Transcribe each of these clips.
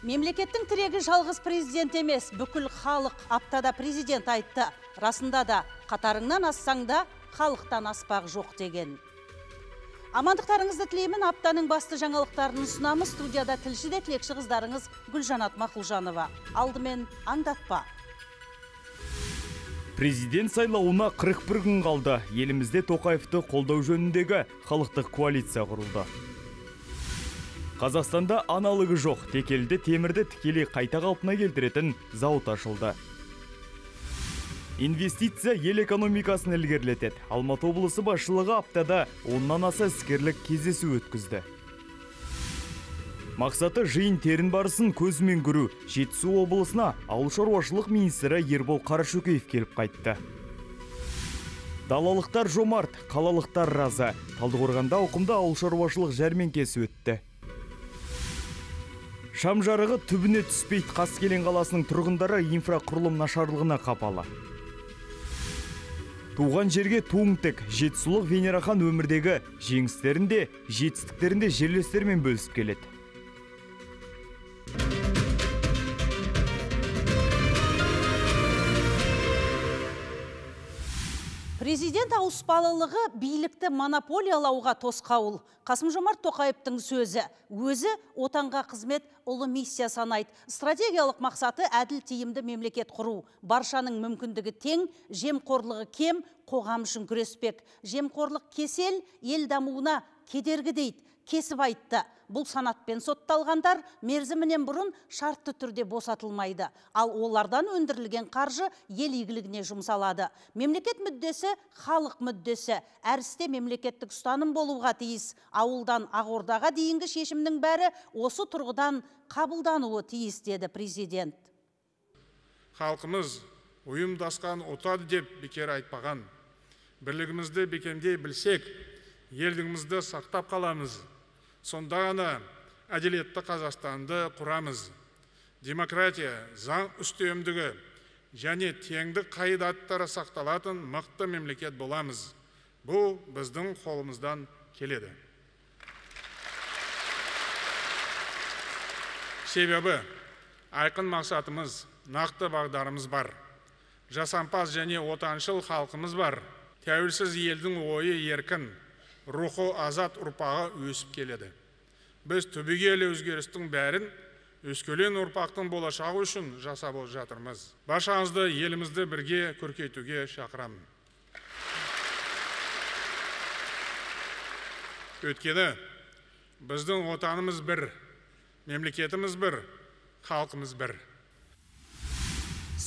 Мемлекеттің тірегі жалғыз президент емес, бүкіл халық. Аптада президент айтты. Расында да қатарыңнан ассаң да халықтан аспақ жоқ деген. Амандықтарыңызды тілеймін. Аптаның басты жаңалықтарын ұсынамыз. Студияда тілшіде тілекші қыздарыңыз Гүлжанат Мақұлжанова. Алдымен аңдатпа. Президент сайлауына 41 күн қалды. Елімізде Тоқаевты қолдау жөніндегі халықтық коалиция құрылды. Қазақстанда аналығы жоқ, текелді темірді тікелей қайта қалпына келтіретін зауыт ашылды. Инвестиция ел экономикасын ілгерілетеді. Алматы облысы басшылығы аптада 10-нан аса іскерлік кездесу өткізді. Мақсаты жиын терін барысын көзімен көру. Жетісу облысына ауыл шаруашылық министрі Ербол Қарашөкеев келіп қайтты. Далалықтар жомарт, қалалықтар разы. Талдықорғанда ауқымды ауыл шаруашылық жәрмеңкесі өтті. Шам жарығы түбіне түспейді. Қаскелен қаласының тұрғындары инфрақұрылым нашарлығына қапалы. Туған жерге туың тік. Жетісулық Венерахан өмірдегі жеңістерінде, жетістіктерінде жерлестермен бөлісіп келеді. Президент ауыспалылығы билікті монополиялауға тосқауыл. Қасым-Жомарт Тоқаевтың сөзі. Өзі отанға қызмет ұлы миссия санайды. Стратегиялық мақсаты әділ тиімді мемлекет құру. Баршаның мүмкіндігі тең, жемқорлығы кем, қоғам үшін күреспек. Жемқорлық кесел, ел дамуына кедергі дейді. Кесіп айтты. Бұл санатпен сотталғандар мерзімінен бұрын шартты түрде босатылмайды. Ал олардан өндірілген қаржы ел игілігіне жұмсалады. Мемлекет мүддесі, халық мүддесі. Әр істе мемлекеттік ұстаным болуға тиіс. Ауылдан Ақордаға дейінгі шешімнің бәрі осы тұрғыдан қабылдануы тиіс, деді президент. Халқымыз ұйымдасқан отады деп бекер айтпаған. Бірлігімізді бекемдей білсек, елдігімізді сақтап қаламыз. Сонда ғана әділетті Қазақстанды құрамыз. Демократия, заң үстемдігі және теңдік қағидаттары сақталатын мықты мемлекет боламыз. Бұл біздің қолымыздан келеді. Себебі айқын мақсатымыз, нақты бағдарымыз бар. Жасампаз және отаншыл халқымыз бар. Тәуелсіз елдің ойы еркін, рухы азат ұрпағы өсіп келеді. Біз түбегейлі өзгерістің бәрін өскелең ұрпақтың болашағы үшін жасап жатырмыз. Баршаңызды елімізді бірге көркейтуге шақырамын. Өйткені біздің отанымыз бір, мемлекетіміз бір, халқымыз бір.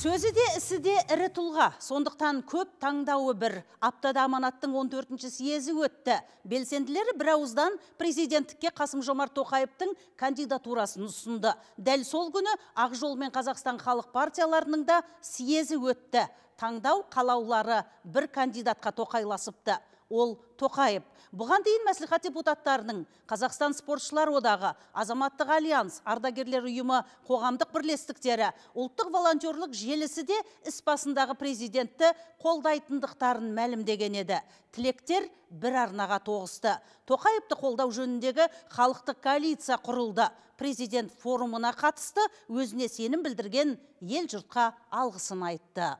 Сөзі де, ісі де ірі тұлға. Сондықтан көп таңдауы бір. Аптада аманаттың 14-ші съезі өтті. Белсенділері бір ауыздан президенттікке Қасым-Жомарт Тоқаевтың кандидатурасын ұсынды. Дәл сол күні Ақжол мен Қазақстан халық партияларының да съезі өтті. Таңдау қалаулары бір кандидатқа тоқайласыпты. Ол Тоқаев. Бұған дейін мәслихат депутаттарының, Қазақстан спортшылар одағы, Азаматтық альянс, ардагерлер ұйымы, қоғамдық бірлестіктері, ұлттық волонтерлік желісі де іс басындағы президентті қолдайтындықтарын мәлімдеген еді. Тілектер бір арнаға тоғысты. Тоқаевты қолдау жөніндегі халықтық коалиция құрылды. Президент форумына қатысты, өзіне сенім білдірген ел жұртқа алғысын айтты.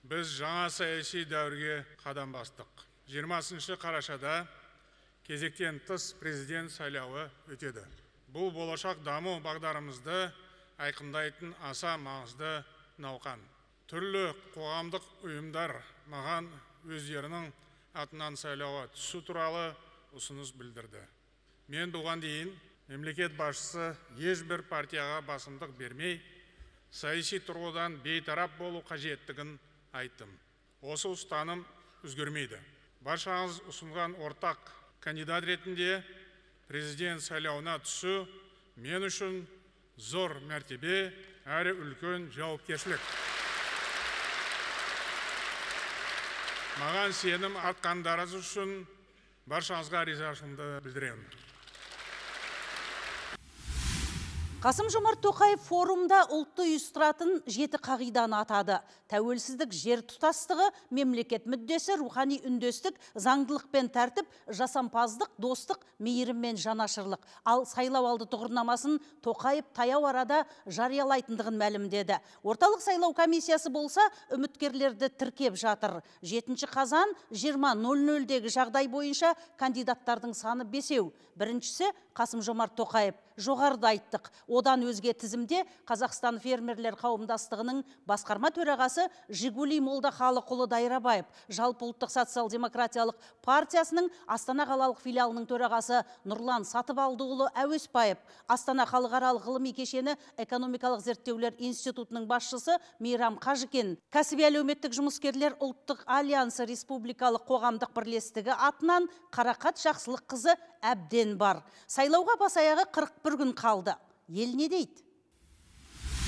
Біз жаңа саяси дәуірге қадам бастық. 20 қарашада кезектен тыс президент сайлауы өтеді. Бұл болашақ даму бағдарымызды айқындайтын аса маңызды науқан. Түрлі қоғамдық ұйымдар маған өздерінің атынан сайлауға түсу туралы ұсыныс білдірді. Мен бұған дейін мемлекет басшысы ешбір партияға басымдық бермей, саяси тұрғыдан бейтарап болу қажеттігін айттым. Осы ұстаным өзгермейді. Баршаңыз ұсынған ортақ кандидат ретінде президент сайлауына түсу мен үшін зор мәртебе әрі үлкен жауапкершілік. Маған сенім артқандарыңыз үшін баршаңызға ризашылығымды білдіремін. Қасым-Жомарт Тоқаев форумда ұлтты ұйыстыратын 7 қағиданы атады. Тәуелсіздік, жер тұтастығы, мемлекет мүддесі, рухани үндестік, заңдылық пен тәртіп, жасампаздық, достық, мейірім мен жанашырлық. Ал сайлау алды тұғырнамасын Тоқаев таяу арада жариялайтындығын мәлімдеді. Орталық сайлау комиссиясы болса, үміткерлерді тіркеп жатыр. 7 қазан 20:00-дегі жағдай бойынша кандидаттардың саны 5. Біріншісі Қасым-Жомарт Тоқаев. Жоғарыда айттық. Одан өзге тізімде Қазақстан фермерлер қауымдастығының басқарма төрағасы Жигули Молдахалықұлы Дайрабаев, Жалпы ұлттық социал-демократиялық партиясының Астана қалалық филиалының төрағасы Нұрлан Сатыбалдыұлы Әуеспаев, Астана халықаралық ғылыми кешені экономикалық зерттеулер институтының басшысы Мейрам Қажыкен, кәсіби әлеуметтік жұмыскерлер ұлттық альянсы республикалық қоғамдық бірлестігі атынан Қарақат Жақсылыққызы әбден бар. Сайлауға бас-аяғы 41 күн қалды. Ел не дейді?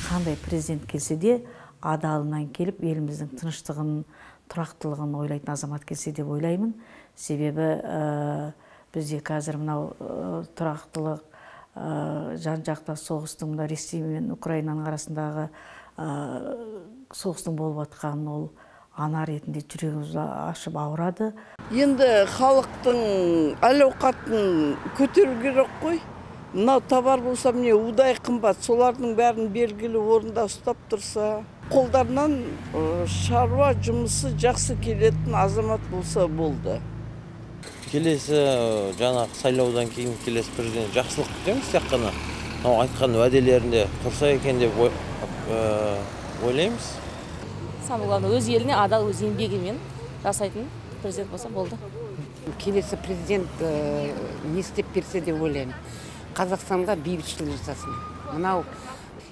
Қандай президент келсе де адалынан келіп, еліміздің тыныштығын, тұрақтылығын ойлайтын азамат келсе деп ойлаймын. Себебі бізде қазір мынау тұрақтылық, жан-жақта соғыстың, Ресей мен Украинаның арасындағы соғыстың болып жатқанын ол ана ретінде жүрегімізді ашып ауырады. Енді халықтың әл-ауқатын көтеру керек қой. Мынау товар болса, міне удай қымбат, солардың бәрін белгілі орында ұстап тұрса, қолдарынан шаруа жұмысы жақсы келетін азамат болса болды. Келесі жаңағы сайлаудан кейін келесі президент жақсылық күтеміз, тек қана айтқан уәделерінде тұрса екен деп ойлаймыз. Самое главное, өз еліне адал, өз еңбегімен жасайтын президент болса болды. Келесі президент не істеп берсе деп ойлаймын. Қазақстанға бейбітшілік жасасын. Мынау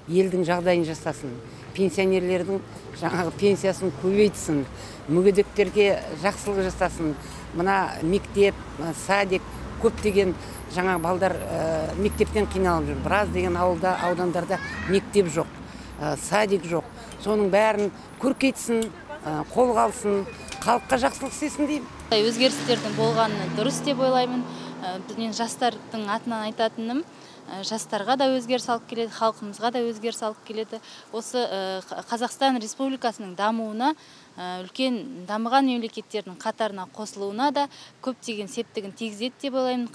елдің жағдайын жасасын. Пенсионерлердің жаңағы пенсиясын көбейтсін. Мүгедектерге жақсылық жасасын. Мына мектеп, садик, көптеген жаңағы балдар мектептен қиналып жүр. Біраз деген аудандарда мектеп жоқ, садик жоқ. Соның бәрін көркейтсін, қолға алсын, халыққа жақсылық істесін деймін. Өзгерістердің болғаны дұрыс деп ойлаймын. Мен жастардың атынан айтатыным, жастарға да өзгеріс алып келеді, халқымызға да өзгеріс алып келеді. Осы Қазақстан Республикасының дамуына, үлкен дамыған мемлекеттердің қатарына қосылуына да көптеген септігін тигізеді деп ойлаймын.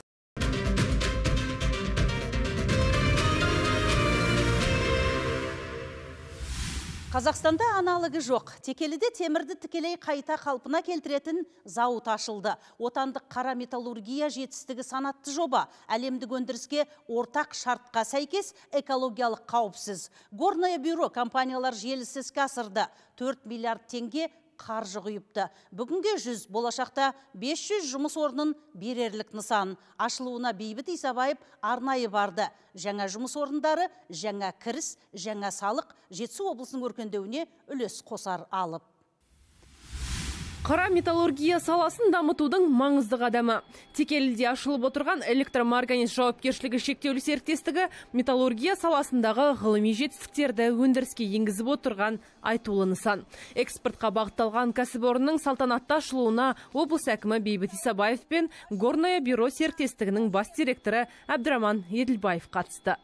Қазақстанда аналығы жоқ. Текеліде темірді тікелей қайта қалпына келтіретін зауыт ашылды. Отандық қара металлургия жетістігі санатты жоба. Әлемдік өндіріске ортақ шартқа сәйкес экологиялық қауіпсіз. Горное бюро компаниялар желісі іске асырды. 4 миллиард теңге қаржы құйыпты. Бүгінге 100, болашақта 500 жұмыс орнын берерлік нысан. Ашылуына Бейбіт Исабаев арнайы барды. Жаңа жұмыс орындары, жаңа кіріс, жаңа салық Жетісу облысының өркендеуіне үлес қосар алып. Қара металлургия саласын дамытудың маңызды қадамы. Текеліде ашылып отырған электромарганец жауапкершілігі шектеулі серіктестігі металлургия саласындағы ғылыми жетістіктерді өндіріске енгізіп отырған айтулы нысан. Экспортқа бағытталған кәсіпорынның салтанатты ашылуына облыс әкімі Бейбіт Исабаев пен Горное бюро серіктестігінің бас директоры Әбдіраман Еділбаев қатысты.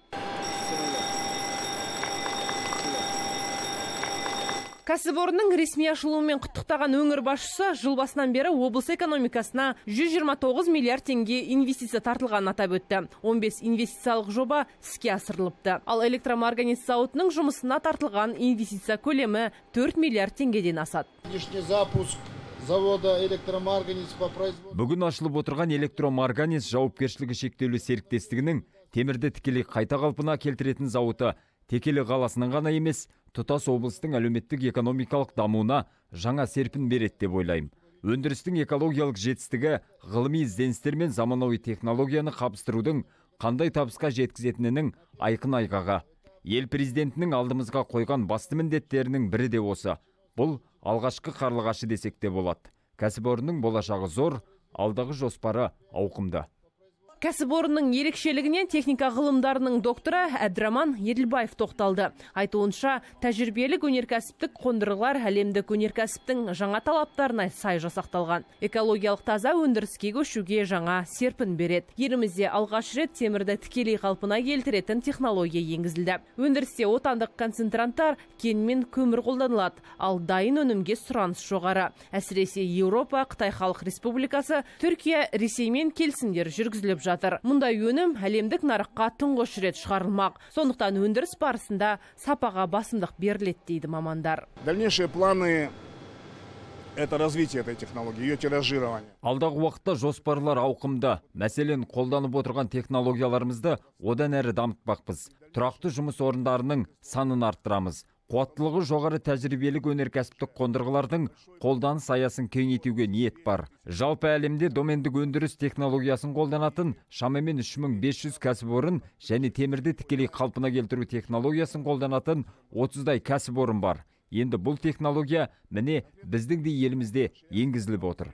Кәсіпорынның ресми ашылуымен құттықтаған өңір басшысы жыл басынан бері облыс экономикасына 129 миллиард теңге инвестиция тартылғанын атап өтті. 15 инвестициялық жоба іске асырылыпты. Ал электромарганец зауытының жұмысына тартылған инвестиция көлемі 4 миллиард теңгеден асады. Бүгін ашылып отырған электромарганец жауапкершілігі шектеулі серіктестігінің темірді тікелей қайта қалпына келтіретін зауыты Текелі қаласының ғана емес, тұтас облыстың әлеуметтік экономикалық дамуына жаңа серпін береді деп ойлаймын. Өндірістің экологиялық жетістігі ғылыми ізденістер мен заманауи технологияны қабыстырудың қандай табысқа жеткізетінінің айқын айғағы. Ел президентінің алдымызға қойған басты міндеттерінің бірі де осы. Бұл алғашқы қарлығашы десек те болады. Кәсіпорынның болашағы зор, алдағы жоспары ауқымды. Кәсіпорынның ерекшелігінен техника ғылымдарының докторы Әбдіраман Еділбаев тоқталды. Айтуынша, тәжірибелік өнеркәсіптік қондырғылар әлемдік өнеркәсіптің жаңа талаптарына сай жасақталған. Экологиялық таза өндіріске көшуге жаңа серпін береді. Елімізде алғаш рет темірді тікелей қалпына келтіретін технология енгізілді. Өндірісте отандық концентранттар кен мен көмір қолданылады, ал дайын өнімге сұраныс жоғары. Әсіресе Еуропа, Қытай Халық Республикасы, Түркия, Ресеймен келісімдер жүргізіліп жатыр. Мұндай өнім әлемдік нарыққа тұңғыш рет шығарылмақ. Сондықтан өндіріс барысында сапаға басымдық беріледі дейді мамандар. Дальнейшие планы – это развитие этой технологии, ее тиражирование. Алдағы уақытта жоспарлар ауқымды. Мәселен, қолданып отырған технологияларымызды одан әрі дамытпақпыз. Тұрақты жұмыс орындарының санын арттырамыз. Қуаттылығы жоғары тәжірибелік өнеркәсіптік қондырғылардың қолданыс аясын кеңейтуге ниет бар. Жалпы әлемде домендік өндіріс технологиясын қолданатын шамамен 3500 кәсіпорын және темірді тікелей қалпына келтіру технологиясын қолданатын 30-дай кәсіпорын бар. Енді бұл технология міне біздің де елімізде енгізіліп отыр.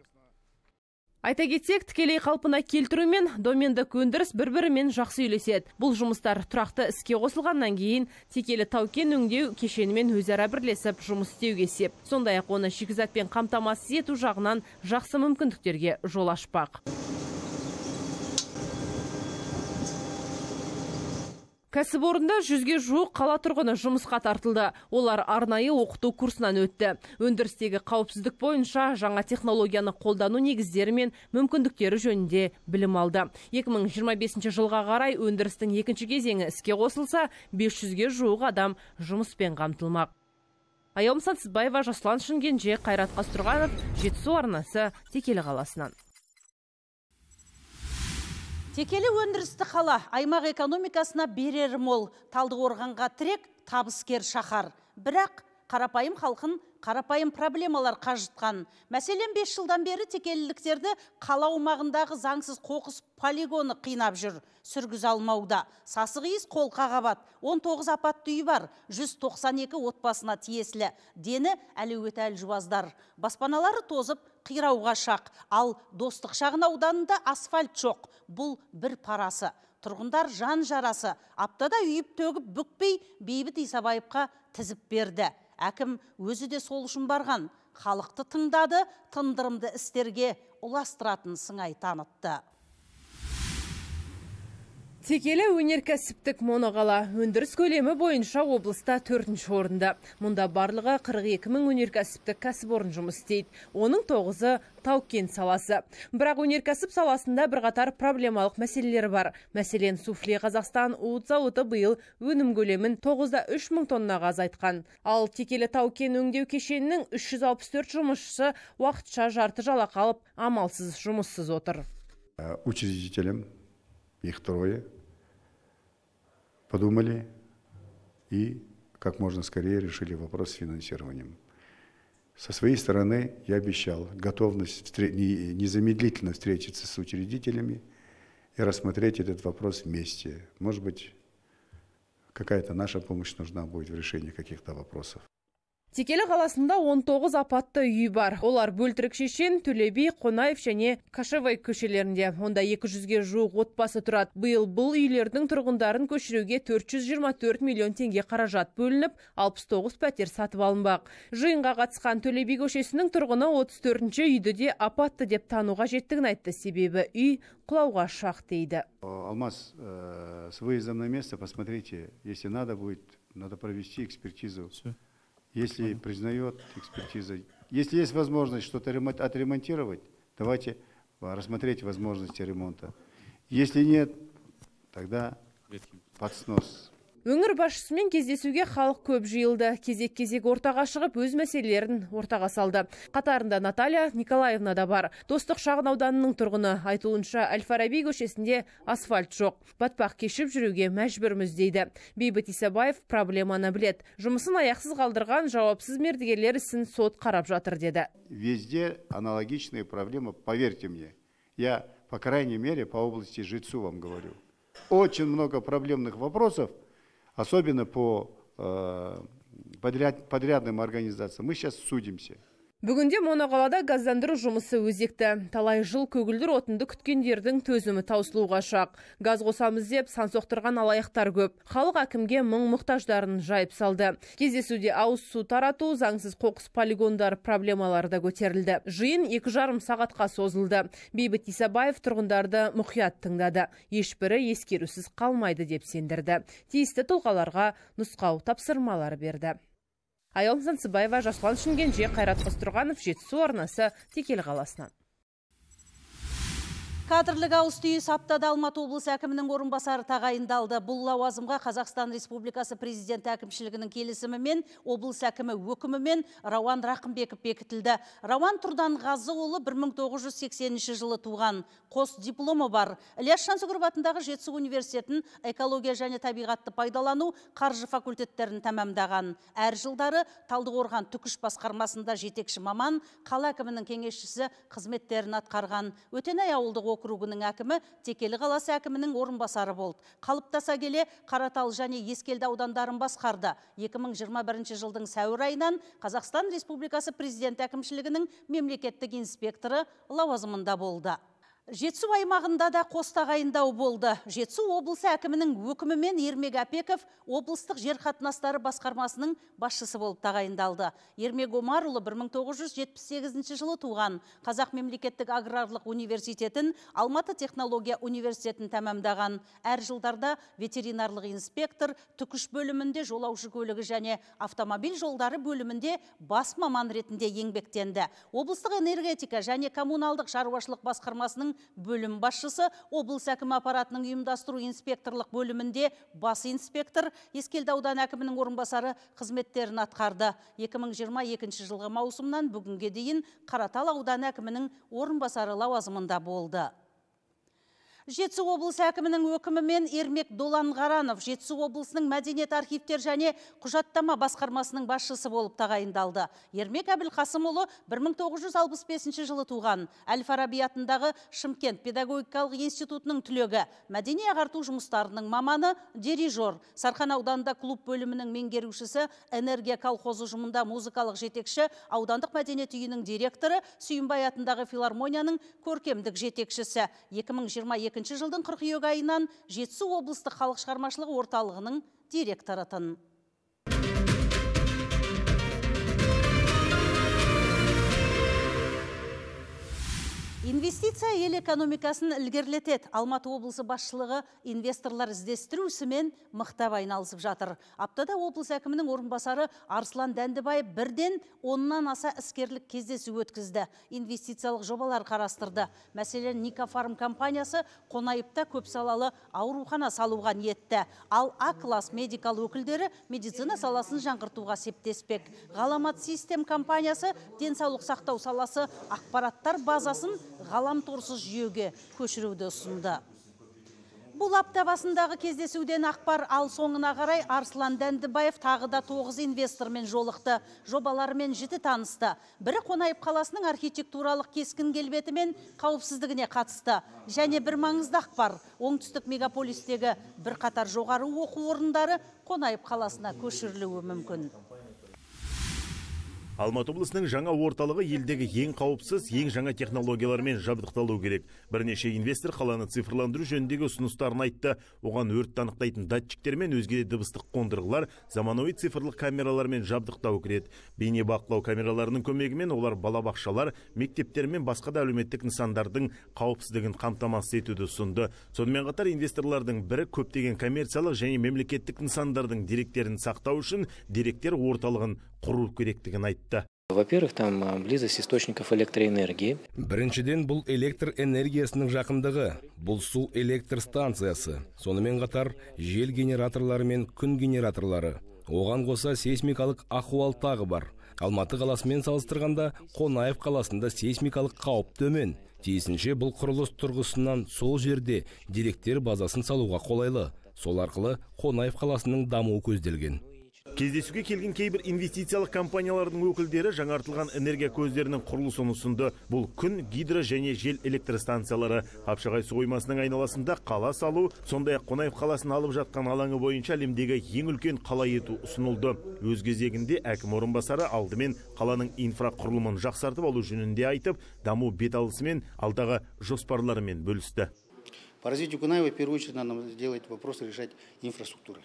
Айта кетсек, тікелей қалпына келтіру мен домендік өндіріс бір-бірімен жақсы үйлеседі. Бұл жұмыстар тұрақты іске қосылғаннан кейін текелі тау-кен өңдеу кешенімен өзара бірлесіп жұмыс істеуге сеп. Сондай-ақ оны шикізатпен қамтамасыз ету жағынан жақсы мүмкіндіктерге жол ашпақ. Кәсіпорында 100-ге жуық қала тұрғыны жұмысқа тартылды. Олар арнайы оқыту курсынан өтті. Өндірістегі қауіпсіздік бойынша жаңа технологияны қолдану негіздері мен мүмкіндіктері жөнінде білім алды. 2025 жылға қарай өндірістің екінші кезеңі іске қосылса, 500-ге жуық адам жұмыспен қамтылмақ. Аяум Сансызбаева, Жасұлан Шымкенже, Қайрат Қастұрғанов, Жетісу арнасы, Текелі қаласынан. Текелі өндірісті қала аймақ экономикасына берер мол. Талдықорғанға тірек, табыскер шаһар. Бірақ қарапайым халқын қарапайым проблемалар қажытқан. Мәселен 5 жылдан бері текеліліктерді қала аумағындағы заңсыз қоқыс полигоны қинап жүр. Сүргіз алмауда. Сасық иіс қолқа қабат. 19 апатты үй бар. 192 отбасына тиесілі. Дені әлеуеті әлжуаздар. Баспаналары тозып, қирауға шақ. Ал Достық шағын ауданында асфальт жоқ. Бұл бір парасы. Тұрғындар жан жарасы. Аптада үйіп төгіп бүкпей Бейбіт Исабаевқа тізіп берді. Әкім өзі де сол үшін барған. Халықты тыңдады, тындырымды істерге ұластыратын сыңай танытты. Текелі өнеркәсіптік моноқала өндіріс көлемі бойынша облыста 4-ші орында. Мұнда барлығы 42 мың өнеркәсіптік кәсіпорын жұмыс істейді. Оның 9-ы тау-кен саласы. Бірақ өнеркәсіп саласында бірқатар проблемалық мәселелері бар. Мәселен, Суфле Қазақстан уыт зауыты биыл өнім көлемін 9,3 мың тоннаға азайтқан. Ал Текелі тау-кен өңдеу кешенінің 364 жұмысшысы уақытша жарты жалақы алып, амалсыз жұмыссыз отыр. Учредителям их трое подумали и как можно скорее решили вопрос с финансированием. Со своей стороны я обещал готовность незамедлительно встретиться с учредителями и рассмотреть этот вопрос вместе. Может быть, какая-то наша помощь нужна будет в решении каких-то вопросов. Текелі қаласында 19 апатты үй бар. Олар Бөлтірік Шешен, Төлеби, Қонаев және Кашевай көшелерінде. Онда 200-ге жуық отбасы тұрады. Биыл бұл үйлердің тұрғындарын көшіруге 424 миллион теңге қаражат бөлініп, 69 пәтер сатып алынбақ. Жиынға қатысқан Төлеби көшесінің тұрғыны 34-ші үйді де апатты деп тануға жеттігін айтты. Себебі үй құлауға шақ дейді. Алмаз, с выездом на место посмотрите, если надо будет, надо провести экспертизу. Если признает экспертиза, если есть возможность что-то отремонтировать, давайте рассмотреть возможности ремонта. Если нет, тогда под снос. Өңір басшысымен кездесуге халық көп жиылды. Кезек-кезек ортаға шығып, өз мәселелерін ортаға салды. Қатарында Наталья Николаевна да бар. Достық шағын ауданының тұрғыны. Айтуынша Әл-Фараби көшесінде асфальт жоқ. Батпақ кешіп жүруге мәжбүрміз дейді. Бейбіт Исабаев проблеманы білет. Жұмысын аяқсыз қалдырған жауапсыз мердігерлер ісін сот қарап жатыр деді. Везде аналогичные проблемы, поверьте мне. Я, по крайней мере, по области Жетысу вам говорю. Очень много проблемных вопросов. Особенно по подрядным организациям. Мы сейчас судимся. Бүгінде моноқалада газдандыру жұмысы өзекті. Талай жыл көгілдір отынды күткендердің төзімі таусылуға шақ. Газ қосамыз деп сан соқтырған алаяқтар көп. Халық әкімге мұң-мұқтаждарын жайып салды. Кездесуде ауыз су тарату, заңсыз қоқыс полигондар проблемалары да көтерілді. Жиын 2,5 сағатқа созылды. Бейбіт Исабаев тұрғындарды мұқият тыңдады. Ешбірі ескерусіз қалмайды деп сендірді. Тиісті тұлғаларға нұсқау тапсырмалары берді. Айалым Сансыбаева, Жасұлан Шымкенже, Қайрат Қостұрғанов, Жетісу арнасы, Текелі қаласынан. Кадрлық ауыс-түйіс аптада Алматы облысы әкімінің орынбасары тағайындалды. Бұл лауазымға Қазақстан Республикасы президенті әкімшілігінің келісімімен, облыс әкімі өкімімен Рауан Рақымбеков бекітілді. Рауан Тұрданғазыұлы 1980 жылы туған, қос дипломы бар. Ілияс Жансүгіров атындағы Жетісу университетін экология және табиғатты пайдалану қаржы факультеттерін тәмамдаған. Әр жылдары Талдықорған түкіш басқармасында жетекші маман, қала әкімінің кеңесшісі қызметтерін атқарған. Өтенай ауылдық округінің әкімі, Текелі қаласы әкімінің орынбасары болды. Қалыптаса келе Қаратал және Ескелді аудандарын басқарды. 2021 жылдың сәуір айынан Қазақстан Республикасы президент әкімшілігінің мемлекеттік инспекторы лауазымында болды. Жетісу аймағында да қос тағайындау болды. Жетісу облысы әкімінің өкімімен Ермек Апеков облыстық жер қатынастары басқармасының басшысы болып тағайындалды. Ермек Омарұлы 1978 жылы туған. Қазақ мемлекеттік аграрлық университетін, Алматы технология университетін тәмамдаған. Әр жылдарда ветеринарлық инспектор, түкіш бөлімінде жолаушы көлігі және автомобиль жолдары бөлімінде бас маман ретінде еңбектенді. Облыстық энергетика және коммуналдық шаруашылық басқармасының бөлім басшысы, облыс әкімі аппаратының ұйымдастыру инспекторлық бөлімінде бас инспектор, Ескелді аудан әкімінің орынбасары қызметтерін атқарды. 2022 жылғы маусымнан бүгінге дейін Қаратал ауданы әкімінің орынбасары лауазымында болды. Жетісу облысы әкімінің өкімімен Ермек Доланғаранов Жетісу облысының мәдениет архивтер және құжаттама басқармасының басшысы болып тағайындалды. Ермек Әбілқасымұлы 1965 жылы туған. Әл-Фараби атындағы Шымкент педагогикалық институтының түлегі, мәдени ағарту жұмыстарының маманы, дирижер, Сарқан ауданында клуб бөлімінің меңгерушісі, энергия колхозы ұжымында музыкалық жетекші, аудандық мәдениет үйінің директоры, Сүйінбай атындағы филармонияның көркемдік жетекшісі. 2022 жылдың қыркүйек айынан Жетісу облыстық халық шығармашылығы орталығының директоры. Инвестиция ел экономикасын ілгерлетеді. Алматы облысы басшылығы инвесторлар іздестіру ісімен мықтап айналысып жатыр. Аптада облыс әкімінің орынбасары Арслан Дәндібай бірден 10-нан аса іскерлік кездесу өткізді. Инвестициялық жобалар қарастырды. Мәселен, Никафарм компаниясы Қонаевта көпсалалы аурухана салуға ниетті. Ал А-класс медикал өкілдері медицина саласын жаңғыртуға септеспек. Ғаламат систем компаниясы денсаулық сақтау саласы ақпараттар базасын ғаламторсыз жүйеге көшіруді ұсынды. Бұл апта басындағы кездесуден ақпар ал соңына қарай Арслан Дәндібаев тағы да 9 инвестормен жолықты, жобаларымен жіті танысты. Бірі Қонаев қаласының архитектуралық кескін келбеті мен қауіпсіздігіне қатысты. Және бір маңызды ақпар, оңтүстік мегаполистегі бірқатар жоғары оқу орындары Қонаев қаласына көшірілуі мүмкін. Алматы облысының жаңа орталығы елдегі ең қауіпсіз, ең жаңа технологиялармен жабдықталу керек. Бірнеше инвестор қаланы цифрландыру жөніндегі ұсыныстарын айтты. Оған өрт анықтайтын датчиктер мен өзге де дыбыстық қондырғылар заманауи цифрлық камералармен жабдықтау кіреді. Бейне бақылау камераларының көмегімен олар балабақшалар, мектептер мен басқа да әлеуметтік нысандардың қауіпсіздігін қамтамасыз етуді ұсынды. Сонымен қатар инвесторлардың бірі көптеген коммерциялық және мемлекеттік нысандардың деректерін сақтау үшін деректер орталығын құру керектігін айтты. Во-первых, там близость источников электроэнергии. Біріншіден, бұл электр энергиясының жақындығы, бұл су электр станциясы, сонымен қатар жел генераторлары мен күн генераторлары. Оған қоса сейсмикалық ахуал тағы бар. Алматы қаласымен салыстырғанда Қонаев қаласында сейсмикалық қауіп төмен. Тиісінше бұл құрылыс тұрғысынан сол жерде деректер базасын салуға қолайлы. Сол арқылы Қонаев қаласының дамуы көзделген. Кездесуге келген кейбір инвестициялық компаниялардың өкілдері жаңартылған энергия көздерінің құрылысын ұсынды. Бұл күн, гидро және жел электр станциялары. Қапшағай су қоймасының айналасында қала салу, сондай-ақ Қонаев қаласын алып жатқан алаңы бойынша әлемдегі ең үлкен қала ету ұсынылды. Өз кезегінде әкім орынбасары алдымен қаланың инфрақұрылымын жақсартып алу жөнінде айтып, даму бет алысымен алдағы жоспарларымен бөлісті. По развитию Кунаева, в первую очередь, надо делать вопросы решать инфраструктуры.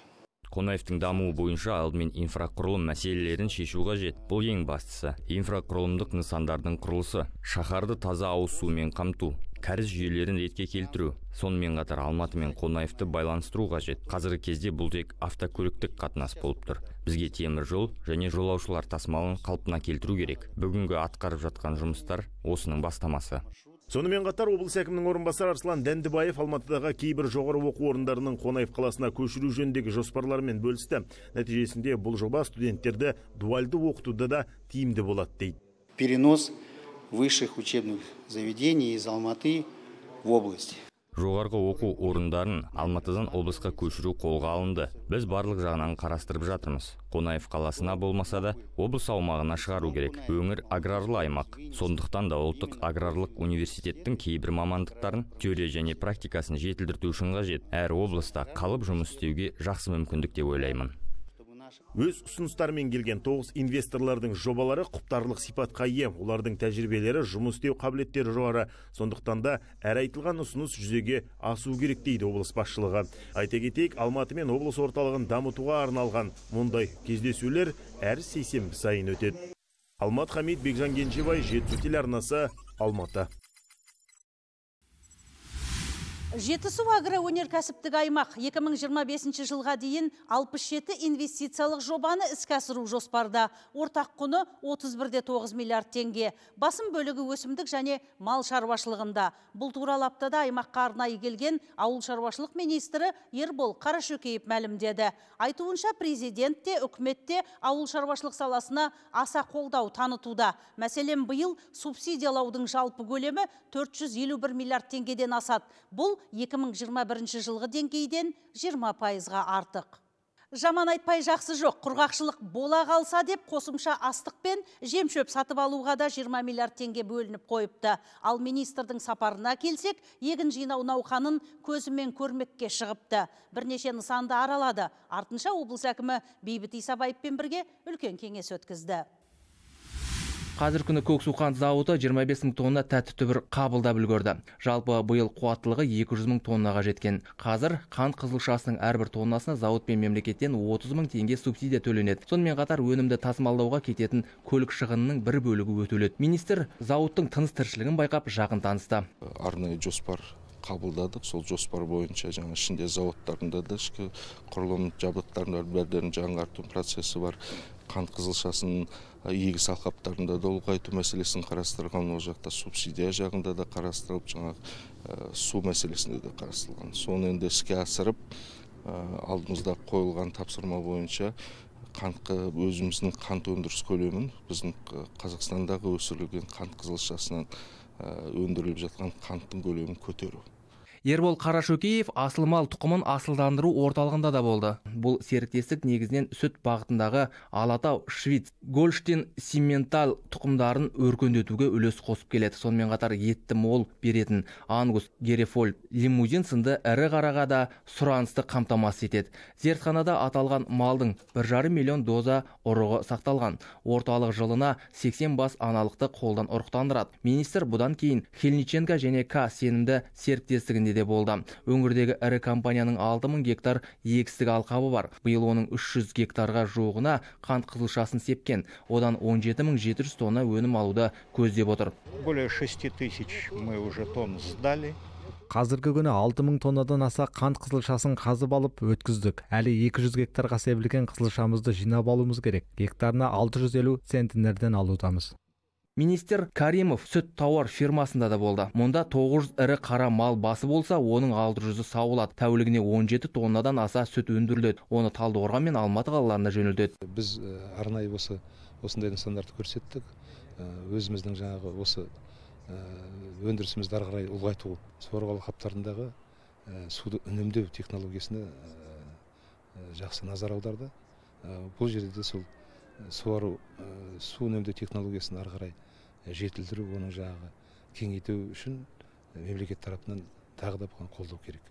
Қонаевтың дамуы бойынша алдымен инфрақұрылым мәселелерін шешу қажет. Бұл ең бастысы. Инфрақұрылымдық нысандардың құрылысы, шаһарды таза ауыз сумен қамту, кәріз жүйелерін ретке келтіру. Сонымен қатар Алматы мен Қонаевты байланыстыру қажет. Қазіргі кезде бұл тек автокөліктік қатынас болып тұр. Бізге темір жол және жолаушылар тасымалын қалпына келтіру керек. Бүгінгі атқарып жатқан жұмыстар осының бастамасы. Сонымен қатар облыс әкімінің орынбасары Арслан Дәндібаев Алматыдағы кейбір жоғары оқу орындарының Қонаев қаласына көшіру жөніндегі жоспарларымен бөлісті. Нәтижесінде бұл жоба студенттерді дуальды оқытуда да тиімді болады дейді. Перенос высших учебных заведений из Алматы в область. Жоғарғы оқу орындарын Алматыдан облысқа көшіру қолға алынды. Біз барлық жағынан қарастырып жатырмыз. Қонаев қаласына болмаса да, облыс аумағына шығару керек. Өңір аграрлы аймақ. Сондықтан да ұлттық аграрлық университеттің кейбір мамандықтарын, теория және практикасын жетілдіру үшін қажет. Әр облыста қалып жұмыс істеуге жақсы мүмкіндік деп ойлаймын. Өз ұсыныстарымен келген 9 инвесторлардың жобалары құптарлық сипатқа ие. Олардың тәжірибелері, жұмыс істеу қабілеттері жоғары. Сондықтан да әр айтылған ұсыныс жүзеге асу керек дейді облыс басшылығы. Айта кетейік, Алматы мен облыс орталығын дамытуға арналған мұндай кездесулер әр сейсенбі сайын өтеді. Алмат Хамид, Бекжан Кенжебай, Жетісу телеарнасы, Алматы. Жетісу агроөнеркәсіптік аймақ 2025 жылға дейін 67 инвестициялық жобаны іске асыру жоспарда. Ортақ құны 31,9 миллиард теңге. Басым бөлігі өсімдік және мал шаруашылығында. Бұл туралы аптада аймаққа арнайы келген ауыл шаруашылық министрі Ербол Қарашөкеев мәлімдеді. Айтуынша президент те, үкімет те ауыл шаруашылық саласына аса қолдау танытуда. Мәселен, биыл субсидиялаудың жалпы көлемі 451 миллиард теңгеден асады. Бұл 2021 жылғы деңгейден 20%-ға артық. Жаман айтпай жақсы жоқ, құрғақшылық бола қалса деп қосымша астық пен жем-шөп сатып алуға да 20 миллиард теңге бөлініп қойыпты. Ал министрдің сапарына келсек, егін жинау науқанын көзімен көрмекке шығыпты. Бірнеше нысанды аралады. Артынша облыс әкімі Бейбіт Исабаевпен бірге үлкен кеңес өткізді. Қазір күні Көксу қант зауыты 25 мың тонна тәтті түбір қабылдап үлгерді. Жалпы биыл қуаттылығы 200 мың тоннаға жеткен. Қазір қант қызылшасының әрбір тоннасына зауыт пен мемлекеттен 30 мың теңге субсидия төленеді. Сонымен қатар өнімді тасымалдауға кететін көлік шығынының бір бөлігі өтеледі. Министр зауыттың тыныс-тіршілігін байқап жақын танысты. Арнайы жоспар қабылдадық. Сол жоспар бойынша жаңа ішінде зауыттарында да ішкі құрылым жабдықтарында бәрдерін жаңарту процесі бар. Қант қызылшасын егіс алқаптарында да ұлғайту мәселесін қарастырған, ол жақта субсидия жағында да қарастырылып, жаңа су мәселесінде де қарастырылған. Соны енді іске асырып, алдымызда қойылған тапсырма бойынша өзіміздің қант өндіріс көлемін, біздің Қазақстандағы өсірілген қант қызылшасынан өндіріліп жатқан қанттың көлемін көтеру. Ербол Қарашөкеев асыл мал тұқымын асылдандыру орталығында да болды. Бұл серіктестік негізінен сүт бағытындағы Алатау, Швиц, Гольштин, Симментал тұқымдарын өркендетуге үлес қосып келеді. Сонымен қатар етті мол беретін Ангус, Герефольд, Лимузин сынды ірі қараға да сұранысты қамтамасыз етеді. Зертханада аталған малдың 1,5 миллион доза ұрығы сақталған. Орталық жылына 80 бас аналықты қолдан ұрықтандырады. Министр бұдан кейін Хельниченко және К сенімді серіктестігінде де болды. Өңірдегі ірі компанияның 6000 гектар егістік алқабы бар. Биыл оның 300 гектарға жуығына қант қызылшасын сепкен. Одан 17700 тонна өнім алуды көздеп отыр. Более 6000 мы уже тонн сдали. Қазіргі күні 6000 тоннадан аса қант қызылшасын қазып алып өткіздік. Әлі 200 гектарға себілген қызылшамызды жинап алуымыз керек. Гектарына 650 центнерден алудамыз. Министр Каримов сүт тауар фирмасында да болды. Мұнда 900 ірі қара мал басы болса, оның 600-ы сауылады. Тәулігіне 17 тоннадан аса сүт өндіріледі. Оны Талдықорған мен Алматы қалаларына жөнелтеді. Біз арнайы осындай нысандарды көрсеттік. Өзіміздің жаңағы осы өндірісімізді ары қарай ұлғайту, суару алқаптарындағы суды үнемдеу технологиясына жақсы назар аударды. бұл жерде де сол суару су үнемдеу технологиясын ары қарай жетілдіру, оның жаңағы кеңейту үшін мемлекет тарапынан тағы да бұған қолдау керек.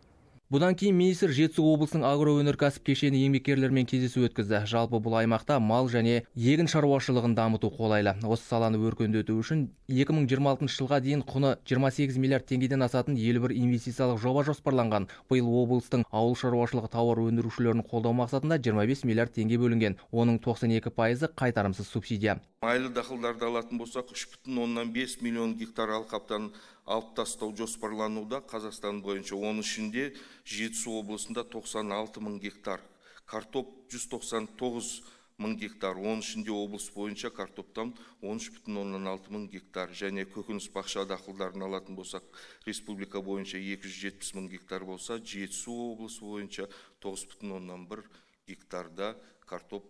Бұдан кейін министр Жетісу облысының агроөнеркәсіп кешені еңбеккерлерімен кездесу өткізді. Жалпы бұл аймақта мал және егін шаруашылығын дамыту қолайлы. Осы саланы өркендету үшін 2026 жылға дейін құны 28 миллиард теңгеден асатын 51 инвестициялық жоба жоспарланған. Биыл облыстың ауыл шаруашылығы тауар өндірушілерін қолдау мақсатында 25 миллиард теңге бөлінген. Оның 92% қайтарымсыз субсидия. Майлы дақылдарды алатын болсақ, 3,5 миллион гектар алқаптан алып тастау жоспарлануда. Қазақстан бойынша оның ішінде Жетісу облысында 96 мың гектар, картоп 199 мың гектар, оның ішінде облыс бойынша картоптан 13,6 мың гектар, және көкөніс бақша дақылдарын алатын болсақ, республика бойынша 270 мың гектар болса, Жетісу облысы бойынша 9,1 гектарда картоп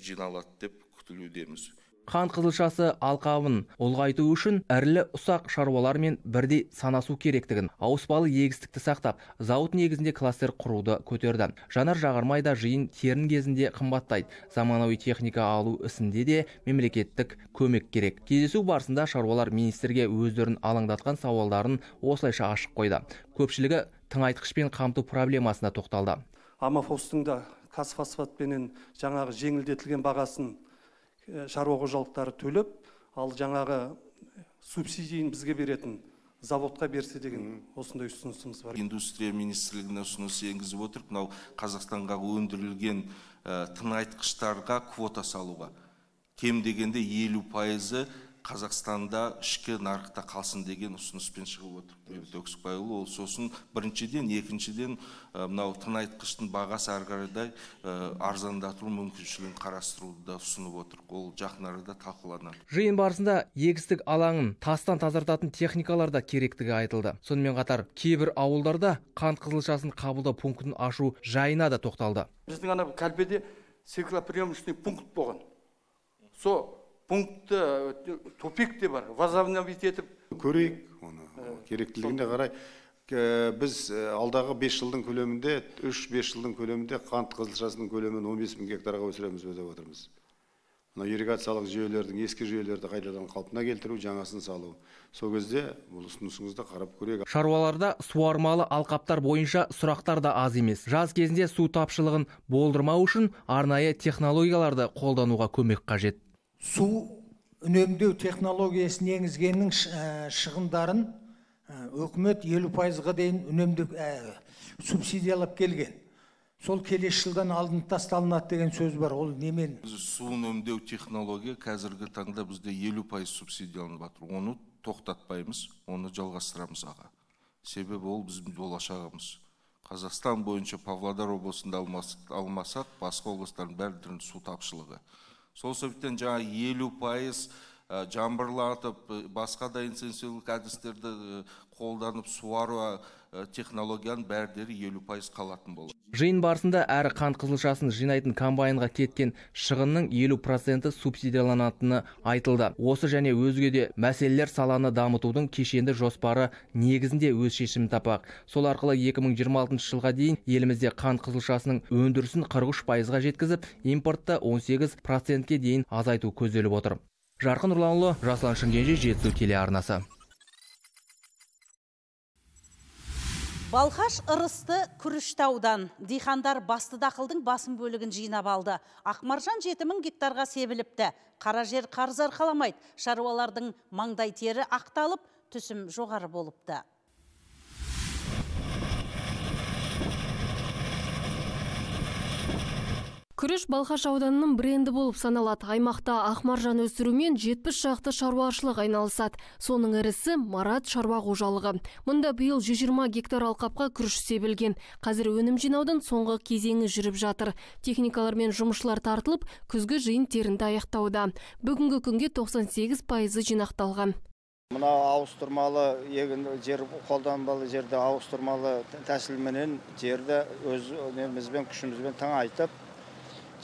жиналады деп күтілудеміз. Қант қызылшасы алқабын ұлғайту үшін әрлі ұсақ шаруалармен бірдей санасу керектігін, ауыспалы егістікті сақтап, зауыт негізінде кластер құруды көтерді. Жанар Жағармай да жиын терін кезінде қымбаттайды. Заманауи техника алу ісінде де мемлекеттік көмек керек. Кездесу барысында шаруалар министрге өздерін алаңдатқан сауалдарын осылайша ашық қойды. Көпшілігі тыңайтқышпен қамту проблемасына тоқталды. Амафостың да қазфосфатпенен жаңағы жеңілдетілген бағасын шаруа қожалықтары төлеп, ал жаңағы субсидияны бізге беретін заводқа берсе деген осындай ұсынысымыз бар. Индустрия министрлігіне ұсыныс енгізіп отыр, мынау Қазақстанға өндірілген тыңайтқыштарға квота салуға. Кем дегенде 50% Қазақстанда ішкі нарықта қалсын деген ұсыныспен шығып отыр. Бейбіт Өксікбайұлы, ол сосын біріншіден, екіншіден мынау тыңайтқыштың бағасы ары қарай арзандату мүмкіншілігін қарастыруды да ұсынып отыр. Ол жақын арада талқыланады. Жиын барысында егістік алаңын тастан тазартатын техникалар да керектігі айтылды. Сонымен қатар кейбір ауылдарда қант қызылшасын қабылдау пунктін ашу жайына да тоқталды. Біздің ана Кәлбеде циклоприемочный пункт болған. Пунктты тупик те бар, возобновить етіп көрейік, оны керектілігіне қарай. Біз алдағы 5 жылдың көлемінде, 3-5 жылдың көлемінде қант қызылшасының көлемін 15 мың гектарға өсіреміз деп отырмыз. Ирригациялық жүйелердің, ескі жүйелерді қайтадан қалпына келтіру, жаңасын салу. Сол кезде бұл ұсынысыңызды қарап көрейік. Шаруаларда суармалы алқаптар бойынша сұрақтар да аз емес. Жаз кезінде су тапшылығын болдырмау үшін арнайы технологияларды қолдануға көмек қажет. Су үнемдеу технологиясын енгізгеннің шығындарын өкімет 50%-ға дейін үнемдеу субсидиялап келген. Сол келесі жылдан алдын тасталынады деген сөз бар. Ол немен? Су үнемдеу технология қазіргі таңда бізде 50% субсидияланып жатыр. Оны тоқтатпаймыз, оны жалғастырамыз аға. Себебі ол біздің болашағымыз. Қазақстан бойынша Павлодар облысында алмасақ, басқа облыстардың бәрінің су тапшылығы. Сол себептен жаңа 50% жаңбырлатып, басқа да интенсивдік әдістерді қолданып суару технологияның бәрдері 50% қалатын болды. Жиын барысында әрі қант қызылшасын жинайтын комбайнға кеткен шығынның 50% субсидияланатыны айтылды. Осы және өзге де мәселелер саланы дамытудың кешенді жоспары негізінде өз шешімін таппақ. Сол арқылы 2026 жылға дейін елімізде қант қызылшасының өндірісін 43%-ға жеткізіп, импортты 18%-ке дейін азайту көзделіп отыр. Жарқын Нұрланұлы, Жасұлан Шымкенже, Жетісу телеарнасы. Балқаш ырысты Күріштаудан дихандар басты дақылдың басым бөлігін жинап алды. Ақмаржан 7000 гектарға себіліпті. Қара жер қарыз арқаламайды. Шаруалардың маңдай тері ақталып, түсім жоғары болыпты. Күріш Балқаш ауданының бренді болып саналады. Аймақта ақмаржан өсірумен 70 шақты шаруашылық айналысады. Соның ірісі Марат шаруа қожалығы. Мұнда биыл 120 гектар алқапқа күріш себілген. Қазір өнім жинаудың соңғы кезеңі жүріп жатыр. Техникалар мен жұмысшылар тартылып, күзгі жиын терінді аяқтауда. Бүгінгі күнге 98% жинақталған. Мына ауыстырмалы егін жер қолданбалы жерді ауыстырмалы тәсілменен жерді өз өнімізбен күшімізбен тыңайтып,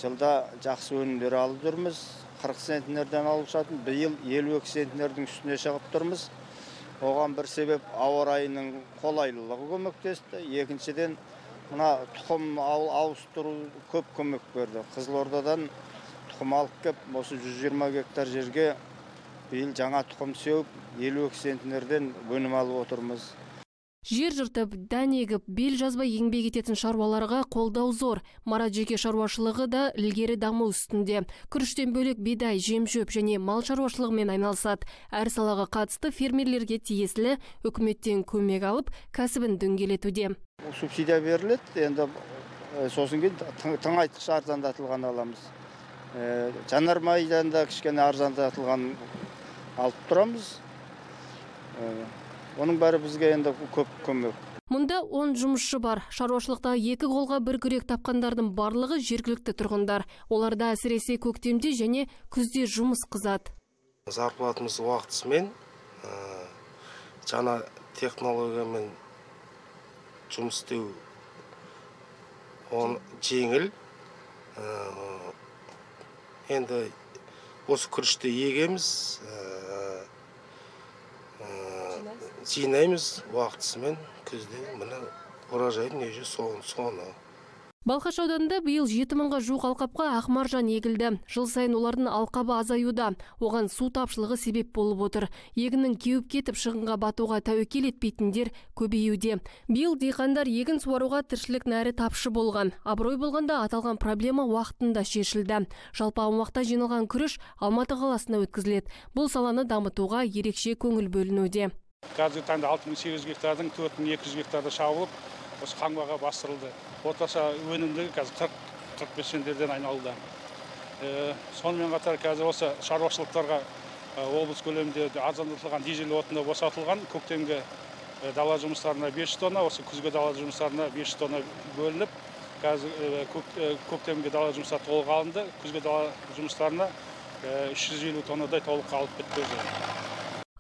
жылда жақсы өнімдер алып жүрміз. 40 центнерден алып жатырмыз. Биыл 52 центнердің үстіне шығып тұрмыз. Оған бір себеп ауа райының қолайлылығы көмектесті. Екіншіден мына тұқым ауыстыру көп көмек берді. Қызылордадан тұқым алып кеп, осы 120 гектар жерге биыл жаңа тұқым сеуіп, 52 центнерден өнім алып отырмыз. Жер жыртып, дән егіп, бел жазбай еңбек ететін шаруаларға қолдау зор. Марат жеке шаруашылығы да ілгері даму үстінде. Күріштен бөлек бидай, жем-шөп және мал шаруашылығымен айналысады. Әр салаға қатысты фермерлерге тиесілі үкіметтен көмек алып, кәсібін дөңгелетуде. Субсидия беріледі, енді сосын кейін тыңайтқыш арзандатылған аламыз. Жанармайдан да кішкене арзандатылған алып тұрамыз. Оның бәрі бізге енді көп көмек. Мұнда 10 жұмысшы бар. Шаруашылықта 2 қолға 1 күрек тапқандардың барлығы жергілікті тұрғындар. Оларда әсіресе көктемде және күзде жұмыс қызады. Зарплатымыз уақытысымен, жаңа технологиямен жұмыс істеу жеңіл. Енді осы күрішті егеміз, жинаймыз уақытысымен, күзде мына ұражайдың ежі соны. Балқаш ауданында биыл 7 мыңға жуық алқапқа ақмаржан егілді. Жыл сайын олардың алқабы азаюда. Оған су тапшылығы себеп болып отыр. Егіннің кеуіп кетіп шығынға батуға тәуекел етпейтіндер көбеюде. Биыл диқандар егін суаруға тіршілік нәрі тапшы болған. Абырой болғанда аталған проблема уақытында шешілді. Жалпы аумақта жиналған күріш Алматы қаласына өткізіледі. Бұл саланы дамытуға ерекше көңіл бөлінуде. Қазіргі таңда 6800 гектардың 4200 гектарды шабылып, осы қаңбаға бастырылды. Орташа өнімдігі қазір 40-45 центнерден айналды. Сонымен қатар қазір осы шаруашылықтарға облыс көлемінде арзандатылған дизель отыны босатылған. Көктемгі дала жұмыстарына 500 тонна, осы күзгі дала жұмыстарына 500 тонна бөлініп, қазір көктемгі дала жұмыстары толық алынды. Күзгі дала жұмыстарына 350 тоннадай толық алып бітті.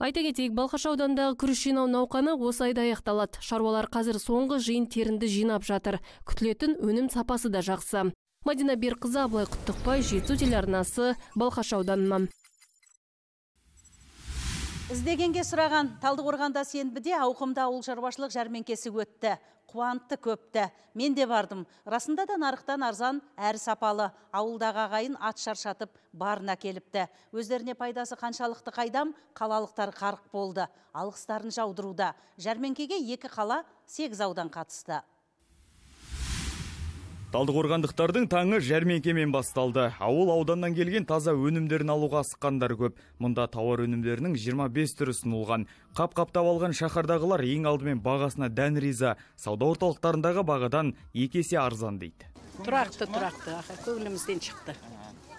Айта кетейік, Балқаш аудандағы күріш жинау науқаны осы айда аяқталады. Шаруалар қазір соңғы жиын терінді жинап жатыр. Күтілетін өнім сапасы да жақсы. Мадина Берқызы, Абылай Құттықбай, Жетісу телеарнасы, Балқаш ауданынан. Іздегенге сұраған Талдықорғанда сенбіде ауқымда ауыл шаруашылық жәрмеңкесі өтті. Қуантты көпті. Мен де бардым. Расында да нарықтан арзан, әрі сапалы. Ауылдағы ағайын ат шаршатып барына келіпті. Өздеріне пайдасы қаншалықты қайдам, қалалықтар қарық болды. Алғыстарын жаудыруда. Жәрмеңкеге 2 қала 8 аудан қатысты. Талдықорғандықтардың таңы жәрмеңкемен басталды. Ауыл ауданнан келген таза өнімдерін алуға асыққандар көп. Мұнда тауар өнімдерінің 25 түрі ұсынылған. Қап-қаптап алған шаһардағылар ең алдымен бағасына дән риза. Сауда орталықтарындағы бағадан 2 есе арзан дейді. Тұрақты, көңілімізден шықты.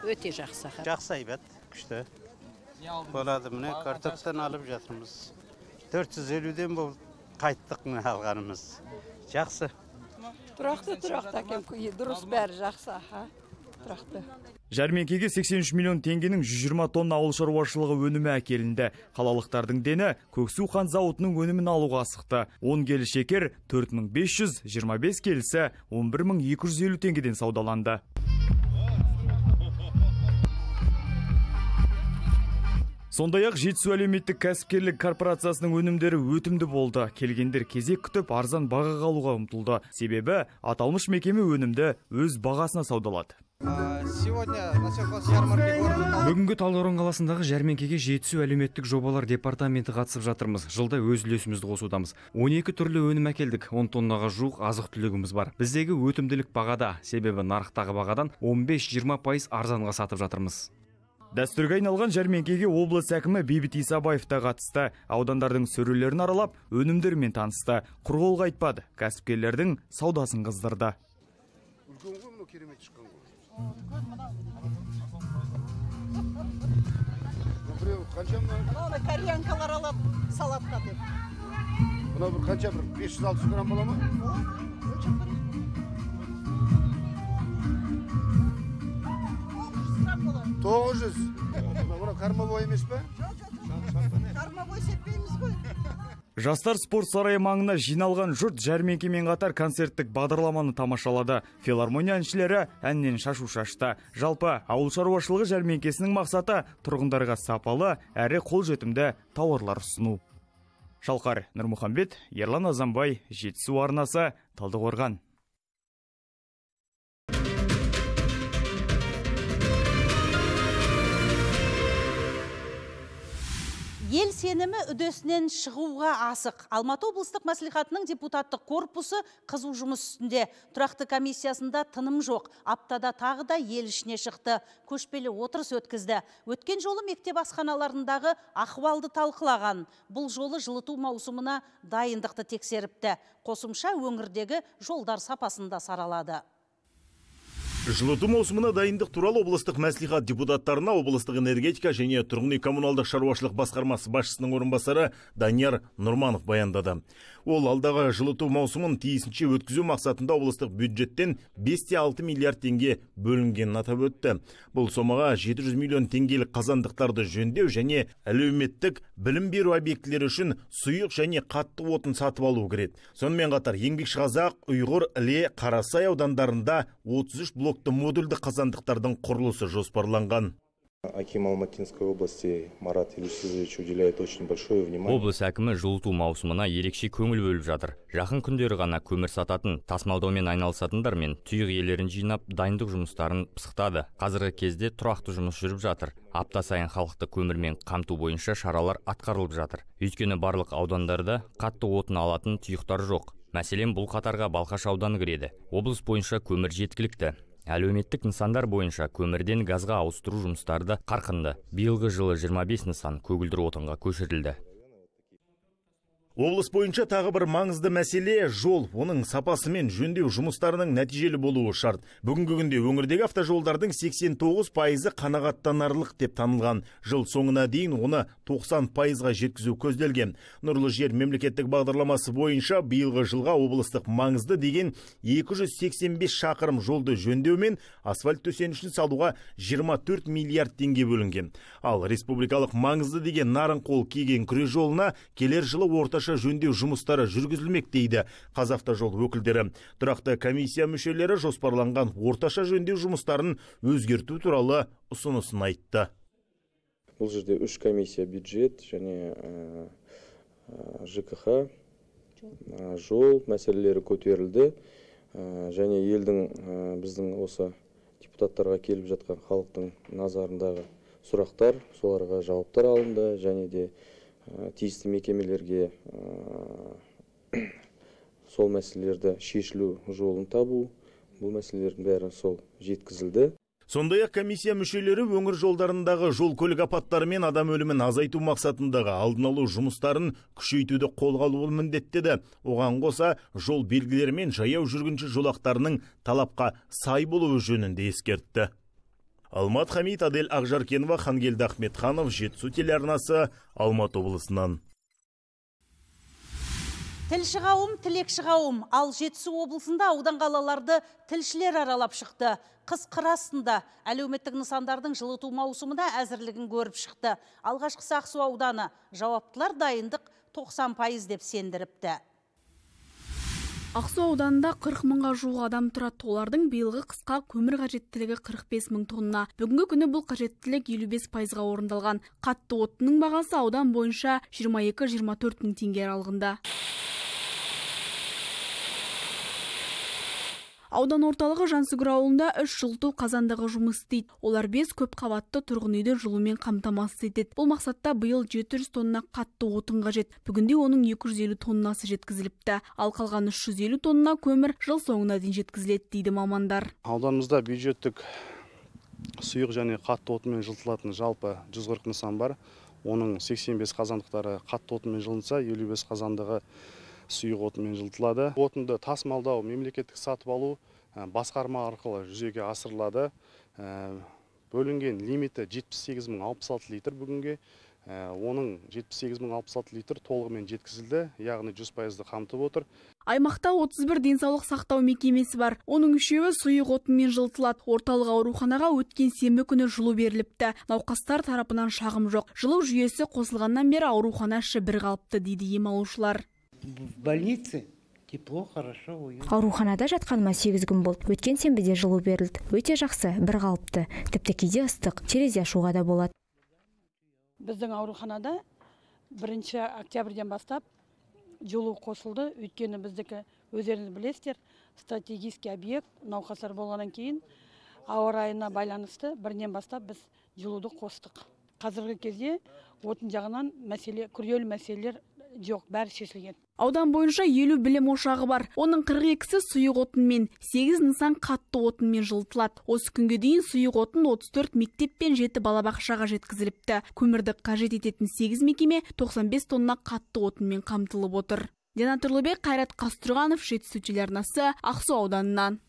Өте жақсы. Жақсы айбат, күшті. Болады, міне картоптан алып жатырмыз. 450-ден бұл қайттық міне алғанымыз. Жақсы. Тұрақты әкем, дұрыс бәрі жақсы. Тұрақты. Жәрмеңкеге 83 миллион теңгенің 120 тонна ауыл шаруашылығы өнімі әкелінді. Қалалықтардың дені Көксу қант зауытының өнімін алуға асықты. 10 келі шекер 4500, 25 келісі 11250 теңгеден саудаланды. Сондай-ақ Жетісу әлеуметтік кәсіпкерлік корпорациясының өнімдері өтімді болды. Келгендер кезек күтіп арзан бағаға алуға ұмтылды. Себебі аталмыш мекеме өнімді өз бағасына саудалады. Бүгінгі Талдықорған қаласындағы жәрмеңкеге Жетісу әлеуметтік жобалар департаменті қатысып жатырмыз. Жылда өз үлесімізді қосудамыз. 12 түрлі өнім әкелдік. 10 тоннаға жуық азық-түлігіміз бар. Біздегі өтімділік бағада, себебі нарықтағы бағадан 15-20% арзанға сатып жатырмыз. Дәстүрге айналған жәрмеңкеге облыс әкімі Бейбіт Исабаев та қатысты. Аудандардың сөрелерін аралап, өнімдермен танысты. Құр қол қайтпады. Кәсіпкерлердің саудасын қыздырды. Кореянкалар алып салатқа деп. Бұна бір қанша, 500-600 грамм бола ма? 900. Бұна кармовой емес пе? Кармовой сеппейміз ғой. Жастар спорт сарайы маңына жиналған жұрт жәрмеңкемен қатар концерттік бағдарламаны тамашалады. Филармония әншілері әннен шашу шашты. Жалпы ауыл шаруашылығы жәрмеңкесінің мақсаты тұрғындарға сапалы әрі қолжетімді тауарлар ұсыну. Шалқар Нұрмұхамбет, Ерлан Азамбай, Жетісу арнасы, Талдықорған. Ел сенімі үдесінен шығуға асық. Алматы облыстық мәслихатының депутаттық корпусы қызу жұмыс үстінде. Тұрақты комиссиясында тыным жоқ. Аптада тағы да ел ішіне шықты. Көшпелі отырыс өткізді. Өткен жолы мектеп асханаларындағы ахуалды талқылаған. Бұл жолы жылыту маусымына дайындықты тексеріпті. Қосымша өңірдегі жолдар сапасында саралады. Жылыту маусымына дайындық туралы облыстық мәслихат депутаттарына облыстық энергетика және тұрғын үй коммуналдық шаруашылық басқармасы басшысының орынбасары Данияр Нұрманов баяндады. Ол алдағы жылыту маусымын тиісінше өткізу мақсатында облыстық бюджеттен 5,6 миллиард теңге бөлінгенін атап өтті. Бұл сомаға 700 миллион теңгелік қазандықтарды жөндеу және әлеуметтік білім беру объектілері үшін сұйық және қатты отын сатып алу кіреді. Сонымен қатар Еңбекшіқазақ, Ұйғыр, Іле, Қарасай аудандарында 33 блокты модульді қазандықтардың құрылысы жоспарланған. Аким Алматинской области Марат Елеусизович уделяет очень большое внимание. Облыс әкімі жылыту маусымына ерекше көңіл бөліп жатыр. Жақын күндері ғана көмір сататын, тасымалдаумен айналысатындар мен тұйық иелерін жинап, дайындық жұмыстарын пысықтады. Қазіргі кезде тұрақты жұмыс жүріп жатыр. Апта сайын халықты көмірмен қамту бойынша шаралар атқарылып жатыр. Өйткені барлық аудандарда қатты отын алатын тұйықтар жоқ. Мәселен, бұл қатарға Балқаш ауданы кіреді. Облыс бойынша көмір жеткілікті. Әлеуметтік нысандар бойынша көмірден газға ауыстыру жұмыстары да қарқынды. Биылғы жылы 25 нысан көгілдір отынға көшірілді. Облыс бойынша тағы бір маңызды мәселе жол, оның сапасы мен жөндеу жұмыстарының нәтижелі болуы шарт. Бүгінгі күнде өңірдегі автожолдардың 89% қанағаттанарлық деп танылған. Жыл соңына дейін оны 90%-ға жеткізу көзделген. Нұрлы жер мемлекеттік бағдарламасы бойынша биылғы жылға облыстық маңызды деген 285 шақырым жолды жөндеу мен асфальт төсенішін салуға 24 миллиард теңге бөлінген. Ал республикалық маңызды деген Нарынқол Кеген күре жолына келер жылы орташа жөндеу жұмыстары жүргізілмек дейді Қазавтожол өкілдері. Тұрақты комиссия мүшелері жоспарланған орташа жөндеу жұмыстарын өзгерту туралы ұсынысын айтты. Бұл жерде 3 комиссия бюджет және ЖКХ, жол мәселелері көтерілді. Және елдің біздің осы депутаттарға келіп жатқан халықтың назарындағы сұрақтар, соларға жауаптар алынды және де тиісті мекемелерге сол мәселелерді шешілу жолын табу, бұл мәселелердің бәрі сол жеткізілді. Сондай-ақ комиссия мүшелері өңір жолдарындағы жол көлік апаттары мен адам өлімін азайту мақсатындағы алдын алу жұмыстарын күшейтуді қолға алуы міндеттеді. Оған қоса жол белгілері мен жаяу жүргінші жолақтарының талапқа сай болуы жөнінде ескертті. Алмат Хамид, Адель Ақжаркенова, Хангелді Ахметханов, Жетісу телеарнасы, Алматы облысынан. Тілші қауым, тілекші қауым, ал Жетісу облысында аудан қалаларды тілшілер аралап шықты. Қыс қырасында әлеуметтік нысандардың жылыту маусымына әзірлігін көріп шықты. Алғашқысы Ақсу ауданы, жауаптылар дайындық 90% деп сендіріпті. Ақсу ауданында 40 мыңға жуық адам тұрады. Олардың биылғы қысқа көмір қажеттілігі 45 мың тонна. Бүгінгі күні бұл қажеттілік 55%-ға орындалған. Қатты отынның бағасы аудан бойынша 22-24 мың теңге аралығында. Аудан орталығы Жансүгір ауылында 3 жылыту қазандығы жұмыс істейді. Олар 5 көп қабатты тұрғын үйді жылумен қамтамасыз етеді. Бұл мақсатта биыл 700 тонна қатты отын қажет. Бүгінде оның 250 тоннасы жеткізіліпті. Ал қалған 350 тонна көмір жыл соңына дейін жеткізіледі дейді мамандар. Ауданымызда бюджеттік сұйық және қатты отынмен жылытылатын жалпы 140 нысан бар. Оның 85 қазандықтары қатты отынмен жылынса, 55 қазандығы сұйық отынмен жылытылады. Отынды тасымалдау, мемлекеттік сатып алу басқарма арқылы жүзеге асырылады. Бөлінген лимиті 78.066 литр бүгінге. Оның 78.066 литр толығымен жеткізілді, яғни 100%-ды қамтып отыр. Аймақта 31 денсаулық сақтау мекемесі бар. Оның 3-еуі сұйық отынмен жылытылады. Орталық ауруханаға өткен сенбі күні жылу беріліпті. Науқастар тарапынан шағым жоқ. Жылу жүйесі қосылғаннан бері аурухана іші бір қалыпты дейді ем алушылар. В больнице тепло, хорошо, уютно. Ауруханада жатқаныма 8 күн болды. Өткен сенбіде жылу берілді. Өте жақсы, бір қалыпты. Тіпті кейде ыстық, терезе ашуға да болады. Біздің ауруханада 1 октябрьден бастап жылу қосылды. Өйткені біздікі өздеріңіз білесіздер, стратегический объект, науқастар болғаннан кейін ауа райына байланысты 1-ден бастап біз жылуды қостық. Қазіргі кезде отын жағынан күрделі мәселелер жоқ, бәрі шешілген. Аудан бойынша 50 білім ошағы бар. Оның 42-сі сұйық отынмен, 8 нысан қатты отынмен жылытылады. Осы күнге дейін сұйық отын 34 мектеп пен 7 балабақшаға жеткізіліпті. Көмірді қажет ететін 8 мекеме 95 тонна қатты отынмен қамтылып отыр. Дина Тұрлыбек, Қайрат Қастұрғанов, Жетісу телеарнасы, Ақсу ауданынан.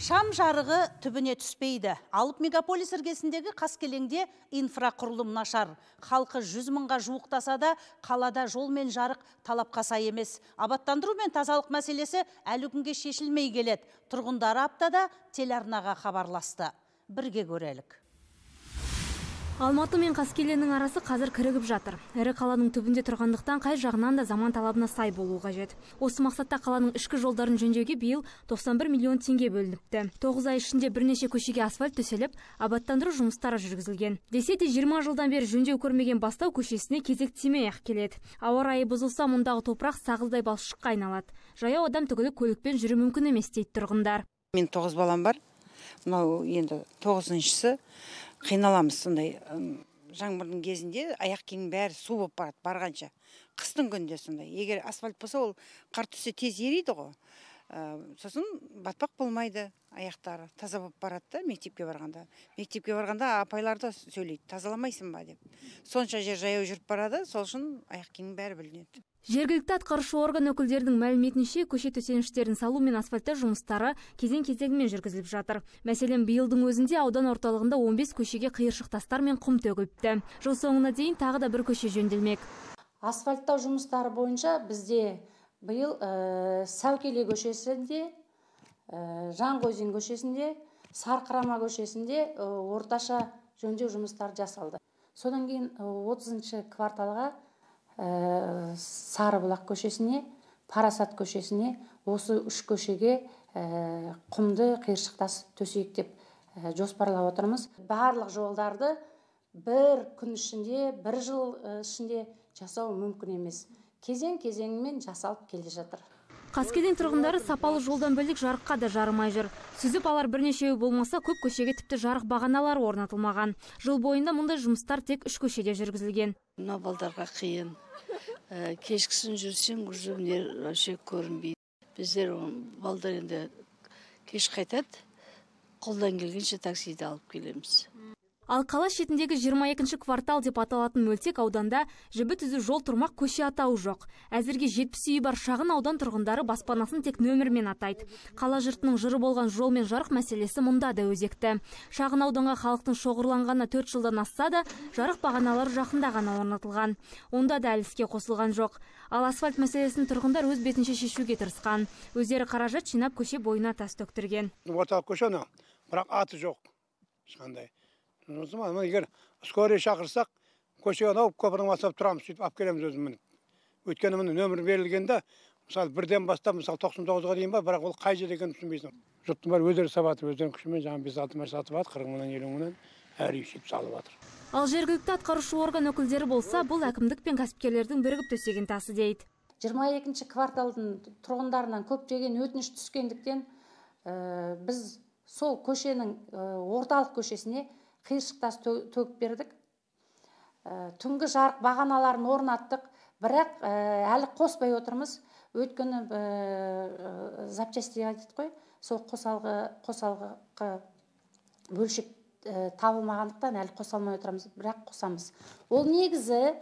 Шам жарығы түбіне түспейді. Алып мегаполис іргесіндегі Қаскелеңде инфрақұрылым нашар. Халқы 100 мыңға жуықтаса да, қалада жол мен жарық талапқа сай емес. Абаттандыру мен тазалық мәселесі әлі күнге шешілмей келеді. Тұрғындары аптада телеарнаға хабарласты. Бірге көрелік. Алматы мен Қаскеленнің арасы қазір кірігіп жатыр. Әрі қаланың түбінде тұрғандықтан қай жағынан да заман талабына сай болу қажет. Осы мақсатта қаланың ішкі жолдарын жөндеуге биыл 91 миллион теңге бөлініпті. 9 ай ішінде бірнеше көшеге асфальт төселіп, абаттандыру жұмыстары жүргізілген. Десе де 20 жылдан бері жөндеу көрмеген Бастау көшесіне кезек тимей-ақ келеді. Ауа райы бұзылса, мұндағы топырақ сағыздай балшыққа айналады. Жаяу адам түгілі көлікпен жүру мүмкін емес дейді тұрғындар. Мен 9 балам бар. Мынау енді 9-шысы. Қиналамыз сондай. Жаңбырдың кезінде аяқ киімнің бәрі су болып барады барғанша. Қыстың күнде сондай. Егер асфальт болса, ол қар түссе тез ериді ғой. Сосын батпақ болмайды аяқтары. Таза болып барады да мектепке барғанда. Мектепке барғанда апайлар да сөйлейді, тазаламайсың ба деп. Сонша жер жаяу жүріп барады, сол үшін аяқ киімнің бәрі білінеді. Жергілікті атқарушы орган өкілдерінің мәліметінше, көше төсеніштерін салу мен асфальттау жұмыстары кезең-кезеңімен жүргізіліп жатыр. Мәселен, биылдың өзінде аудан орталығында 15 көшеге қиыршық тастар мен құм төгіліпті. Жыл соңына дейін тағы да бір көше жөнделмек. Асфальттау жұмыстары бойынша бізде биыл Сәукеле көшесінде, Жанғозин көшесінде, Сарқырама көшесінде орташа жөндеу жұмыстары жасалды. Содан кейін 30-шы кварталға Сарыбұлақ көшесіне, Парасат көшесіне, осы 3 көшеге құмды қиыршықтас төсейік деп жоспарлап отырмыз. Барлық жолдарды бір күн ішінде, бір жыл ішінде жасау мүмкін емес. Кезең-кезеңімен жасалып келе жатыр. Қаскелең тұрғындары сапалы жолдан бөлек жарыққа да жарымай жүр. Сүзіп алар бірнешеуі болмаса, көп көшеге тіпті жарық бағаналары орнатылмаған. Жыл бойында мұндай жұмыстар тек 3 көшеде жүргізілген. Мына балдарға қиын. Кешкісін жүрсең, жүргендер вообще көрінбейді. Біздер балдар енді кеш қайтады, қолдан келгенше таксиді алып келеміз. Ал қала шетіндегі 22-ші квартал деп аталатын мөлтек ауданда жібі түзу жол тұрмақ көше атауы жоқ. Әзірге 70 үйі бар шағын аудан тұрғындары баспанасын тек нөмірмен атайды. Қала жұртының жыры болған жол мен жарық мәселесі мұнда да өзекті. Шағын ауданға халықтың шоғырланғаны 4 жылдан асса да, жарық бағаналары жақында ғана орнатылған. Онда да әліске қосылған жоқ. Ал асфальт мәселесін тұрғындар өз бетінше шешуге тырысқан. Өздері қаражат жинап көше бойына тас төктірген. Орталық көшені, бірақ аты жоқ. Ешқандай. Егер скорый шақырсақ, көшеге алып көпірдің басып тұрамыз, сөйтіп алып келеміз өзімін. Өйткені міне нөмір берілгенде, мысалы 1-ден бастап, мысалы 99-ға дейін ба, бірақ ол қай жер екенін түсінбейсің. Жұрттың бәрі өздері сабатып, өздерінің күшімен жаңа 5-6 мәрсе сатып жатыр, 40 мыңнан 50 мыңнан әр үй сөйтіп салып жатыр. Ал жергілікті атқарушы орган өкілдері болса, бұл әкімдік пен кәсіпкерлердің бірігіп төсеген тасы дейді. 22-ші кварталдың тұрғындарынан көптеген өтініш түскендіктен біз сол көшенің орталық көшесіне қиыршықтас төгіп бердік. Түнгі жарық бағаналарын орнаттық, бірақ әлі қоспай отырмыз. Өйткені запчасти айтып қой, сол қосалғы бөлшек табылмағандықтан әлі қосалмай отырамыз, бірақ қосамыз. Ол негізі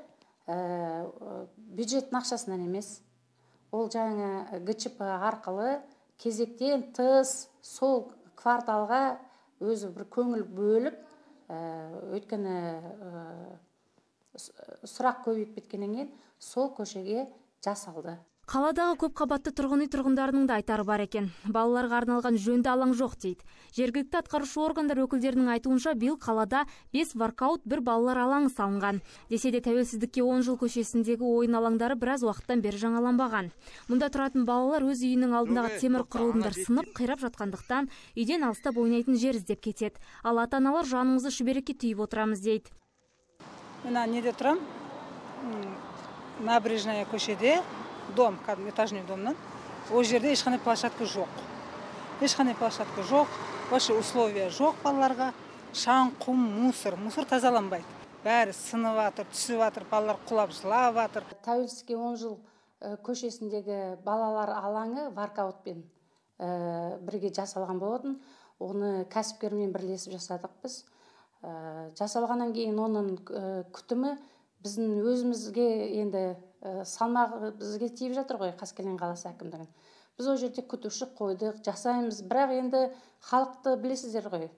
бюджеттің ақшасынан емес. Ол жаңа ГЧП арқылы кезектен тыс сол кварталға өзі бір көңіл бөліп, өйткені сұрақ көбейіп кеткеннен кейін сол көшеге жасалды. Қаладағы көп қабатты тұрғын үй тұрғындарының да айтары бар екен. Балаларға арналған жөнді алаң жоқ дейді. Жергілікті атқарушы органдар өкілдерінің айтуынша биыл қалада 5 воркаут, 1 балалар алаңы салынған. Десе де тәуелсіздікке 10 жыл көшесіндегі ойын алаңдары біраз уақыттан бері жаңаланбаған. Мұнда тұратын балалар өз үйінің алдындағы темір құрылымдар сынып қирап жатқандықтан үйден алыстап ойнайтын жер іздеп кетеді. Ал ата-аналар жанымызды шүберекке түйіп отырамыз дейді. Мына неде тұрам? Набережная көшеде. Дом, этажный домнан. Ол жерде ешқандай площадка жоқ. Ешқандай площадка жоқ. Вообще условия жоқ балаларға. шаң, құм, мусор тазаланбайды. Бәрі сынып жатыр, түсіп жатыр, балалар құлап жылап жатыр. Тәуелсіздікке 10 жыл көшесіндегі балалар алаңы варкаутпен бірге жасалған болатын. Оны кәсіпкермен бірлесіп жасадық біз. Жасалғаннан кейін оның күтімі біздің өзімізге енді салмағы бізге тиіп жатыр ғой, Қаскелең қаласы әкімдігін. Біз ол жерде күтуші қойдық, жасаймыз, бірақ енді халықты білесіздер ғой.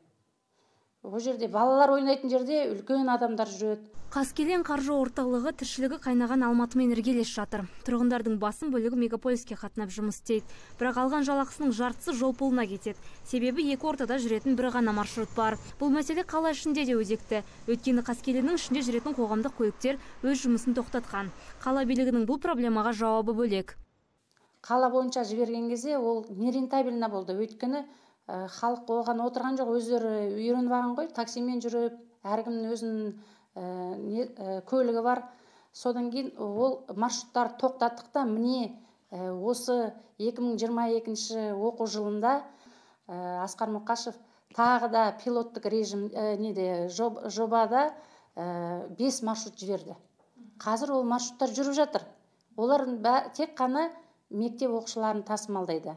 Ол жерде балалар ойнайтын жерде үлкен адамдар жүреді. Қаскелең қаржы орталығы тіршілігі қайнаған Алматымен іргелес жатыр. Тұрғындардың басым бөлігі мегаполиске қатынап жұмыс істейді. Бірақ алған жалақысының жартысы жол пұлына кетеді. Себебі екі ортада жүретін бір ғана маршрут бар. Бұл мәселе қала ішінде де өзекті. Өйткені Қаскелеңнің ішінде жүретін қоғамдық көліктер өз жұмысын тоқтатқан. Қала билігінің бұл проблемаға жауабы бөлек. Қала бойынша жіберген кезде ол нерентабельно болды. Өйткені халық оған отырған жоқ, өздері үйреніп алған ғой, таксимен жүріп, әркімнің өзінің көлігі бар. Содан кейін ол маршруттар тоқтаттықта, міне осы 2022 оқу жылында Асқар Мұқашев тағы да пилоттық режим жобада 5 маршрут жіберді. Қазір ол маршруттар жүріп жатыр. Олар тек қана мектеп оқушыларын тасымалдайды.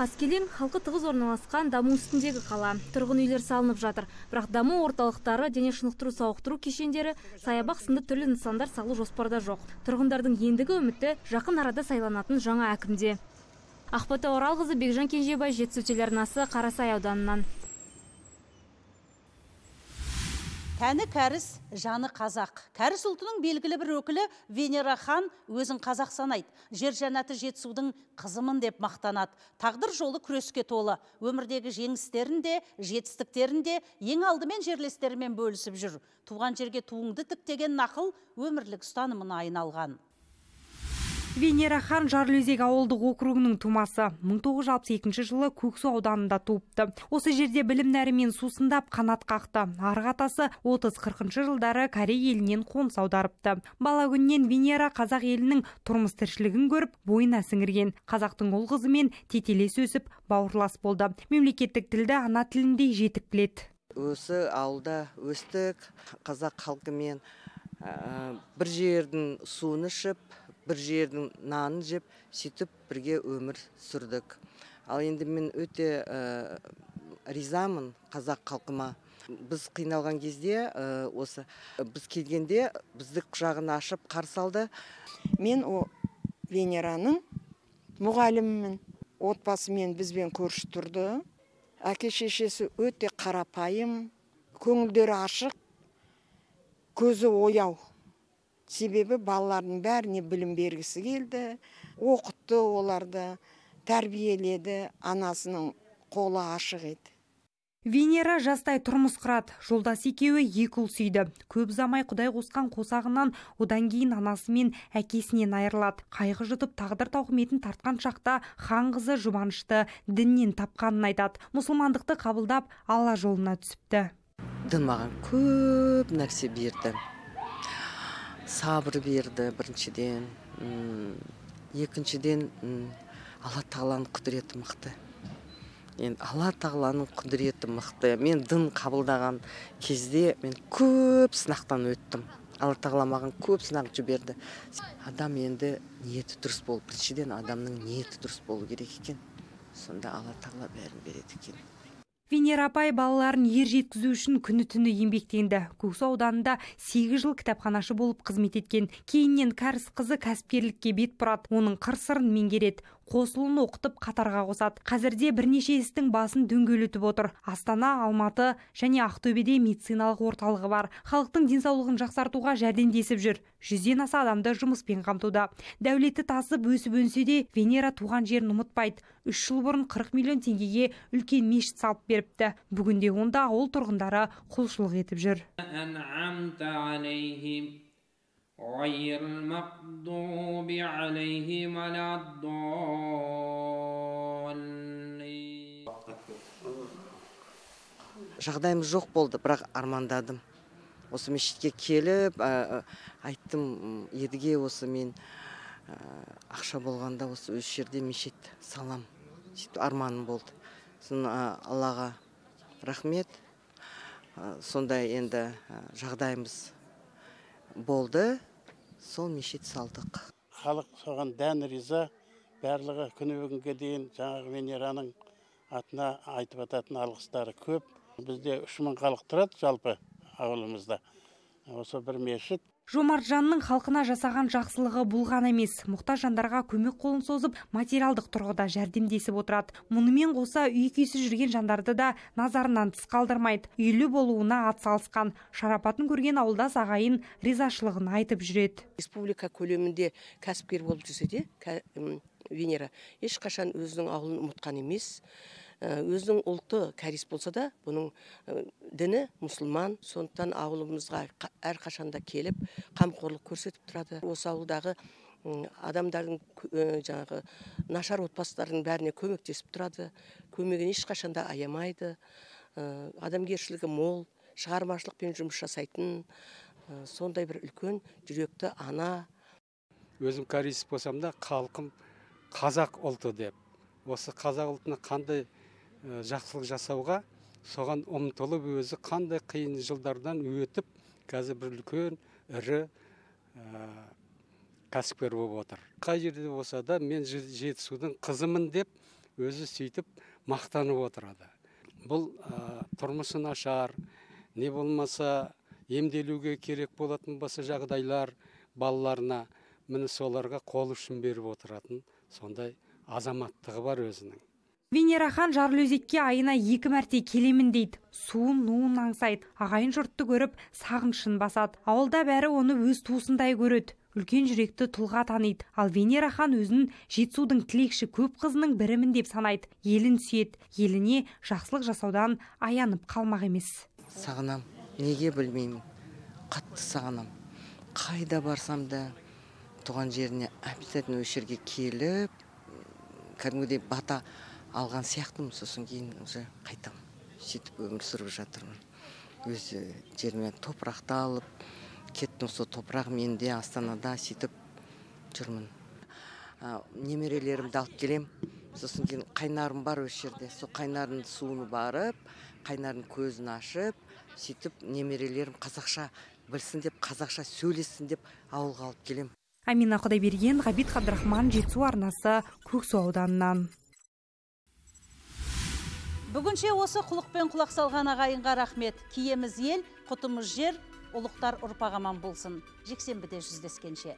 Қаскелең халқы тығыз орналасқан даму үстіндегі қала. Тұрғын үйлер салынып жатыр. Бірақ даму орталықтары, дене шынықтыру сауықтыру кешендері, саябақ сынды түрлі нысандар салу жоспарда жоқ. Тұрғындардың ендігі үміті жақын арада сайланатын жаңа әкімде. Ақбота Оралқызы, Бекжан Кенжебай, Жетісу телеарнасы, Қарасай ауданынан. Тәні кәріс, жаны қазақ. Кәріс ұлтының белгілі бір өкілі Венера хан өзін қазақ санайды. Жер жәннаты Жетісудың қызымын деп мақтанады. Тағдыр жолы күреске толы. Өмірдегі жеңістерінде, жетістіктерінде ең алдымен жерлестерімен бөлісіп жүр. Туған жерге туыңды тіктеген нақыл өмірлік ұстанымына айналған. Венера хан Жарлыөзек ауылдық округінің тумасы. 1962 жылы Көксу ауданында туыпты. Осы жерде білім нәрімен сусындап қанат қақты. Арғы атасы 30-40 жылдары Корей елінен қоныс аударыпты. Бала күннен Венера қазақ елінің тұрмыс тіршілігін көріп, бойына сіңірген. Қазақтың ұл қызымен тетелес өсіп, бауырлас болды. Мемлекеттік тілді ана тіліндей жетік біледі. Осы ауылда өстік, қазақ халқымен бір жердің суын ішіп, бір жердің нанын жеп, сөйтіп бірге өмір сүрдік. Ал енді мен өте ризамын қазақ халқыма. Біз қиналған кезде, осы біз келгенде бізді құшағын ашып қарсы алды. Мен Венераның мұғалімімін. Отбасымен бізбен көрші тұрды. Әке шешесі өте қарапайым, көңілдері ашық, көзі ояу. Себебі балалардың бәріне білім бергісі келді, оқытты оларды, тәрбиеледі, анасының қолы ашық еді. Венера жастай тұрмыс құрады. Жолдас екеуі екі ұл сүйді. Көп замай Құдай қосқан қосағынан одан кейін анасы мен әкесінен айырылады. Қайғы жұтып тағдыр тауқыметін тартқан шақта хан қызы жұбанышты діннен тапқанын айтады. Мұсылмандықты қабылдап Алла жолына түсіпті. Дін маған көп нәрсе берді. Сабыр берді біріншіден. Екіншіден Алла тағаланың құдіреті мықты. Алла тағаланың құдіреті мықты. Мен дін қабылдаған кезде мен көп сынақтан өттім. Алла тағала маған көп сынақ жіберді. Адам енді ниеті дұрыс болу. Біріншіден адамның ниеті дұрыс болу керек екен. Сонда Алла тағала бәрін береді екен. Венера апай балаларын ер жеткізу үшін күні түні еңбектенді. Көксу ауданында 8 жыл кітапханашы болып қызмет еткен. Кейіннен кәріс қызы кәсіпкерлікке бет бұрады. Оның қыр-сырын меңгереді. Қосылын оқытып қатарға қосады. Қазірде бірнеше істің басын дөңгелетіп отыр. Астана, Алматы және Ақтөбеде медициналық орталығы бар. Халықтың денсаулығын жақсартуға жәрдемдесіп жүр. 100-ден аса адамды жұмыспен қамтуда. Дәулеті тасып өсіп өнсе де, Венера туған жерін ұмытпайды. 3 жыл бұрын 40 миллион теңгеге үлкен мешіт салып беріпті. Бүгінде онда ауыл тұрғындары құлшылық етіп жүр. غير المغضوب عليهم ولا الضالين. Жағдайым жоқ болды, бірақ армандадым. Осы мешітке келіп, айттым, едіге осы мен ақша болғанда осы өз жерде мешіт салам. Сөйтіп арманым болды. Соны Аллаға рахмет. сондай енді жағдайымыз болды, сол мешіт салдық. Халық соған дән риза, барлығы күні бүгінге дейін жаңағы Венераның атына айтып ататын алғыстары көп. Бізде 3000 халық тұрады жалпы ауылымызда. Осы бір мешіт. Жомарт жанның халқына жасаған жақсылығы бұл ғана емес, мұқтаж жандарға көмек қолын созып, материалдық тұрғыда жәрдемдесіп отырады. Мұнымен қоса үй-күйсіз жүрген жандарды да назарынан тыс қалдырмайды. Үйлі болуына атсалысқан, шарапатын көрген ауылдас ағайын ризашылығын айтып жүреді. Республика көлемінде кәсіпкер болып жүрсе де, Венера ешқашан өзінің ауылын ұмытқан емес. Өзінің ұлты кәріс болса да, бұның діні мұсылман, сондықтан ауылымызға әрқашанда келіп, қамқорлық көрсетіп тұрады. Осы ауылдағы адамдардың жаңағы нашар отбасылардың бәріне көмектесіп тұрады. Көмегін ешқашанда аямайды. Адамгершілігі мол, шығармашылықпен жұмыс жасайтын, сондай бір үлкен жүректі ана. Өзім кәріс болсам да, халқым қазақ ұлты деп. Осы қазақ ұлтына қандай жақсылық жасауға, соған ұмтылып өзі қандай қиын жылдардан өтіп, қазір бір үлкен, ірі кәсіпкер болып отыр. Қай жерде болса да, мен Жетісудың қызымын деп, өзі сөйтіп мақтанып отырады. Бұл тұрмысы нашар, не болмаса емделуге керек болатын болса жағдайлар балаларына, міне соларға қол ұшын беріп отыратын сондай азаматтығы бар өзінің. Венера хан Жарлыөзекке айына 2 мәрте келемін дейді. Суын, нуын аңсайды. Ағайын жұртты көріп, сағынышын басады. Ауылда бәрі оны өз туысындай көреді. Үлкен жүректі тұлға таниды. Ал Венера хан өзін Жетісудың тілекші көп қызының бірімін деп санайды. Елін сүйеді. Еліне жақсылық жасаудан аянып қалмақ емес. Сағынам, неге білмеймін. Қатты сағынам. Қайда барсам да туған жеріне обязательно осы жерге келіп, кәдімгідей бата алған сияқтымын, сосын кейін уже қайтам. Сөйтіп өмір сүріп жатырмын. Өзі жеріме топырақты алып, кеттім сол топырақ менде Астанада сөйтіп жүрмін. Немерелерімді алып келем. Сосын кейін қайнарым бар осы жерде. Сол қайнардың суыны барып, қайнардың көзін ашып, сөйтіп немерелерім қазақша білсін деп, қазақша сөйлесін деп ауылға алып келем. Амина Құдайберген, Ғабит Қабдрахман, Жетісу арнасы, Көксу ауданынан. Бүгінше осы құлықпен құлақ салған ағайынға рахмет. Киеміз ел, құтымыз жер, ұлықтар ұрпақ аман болсын. Жексенбіде жүздескенше.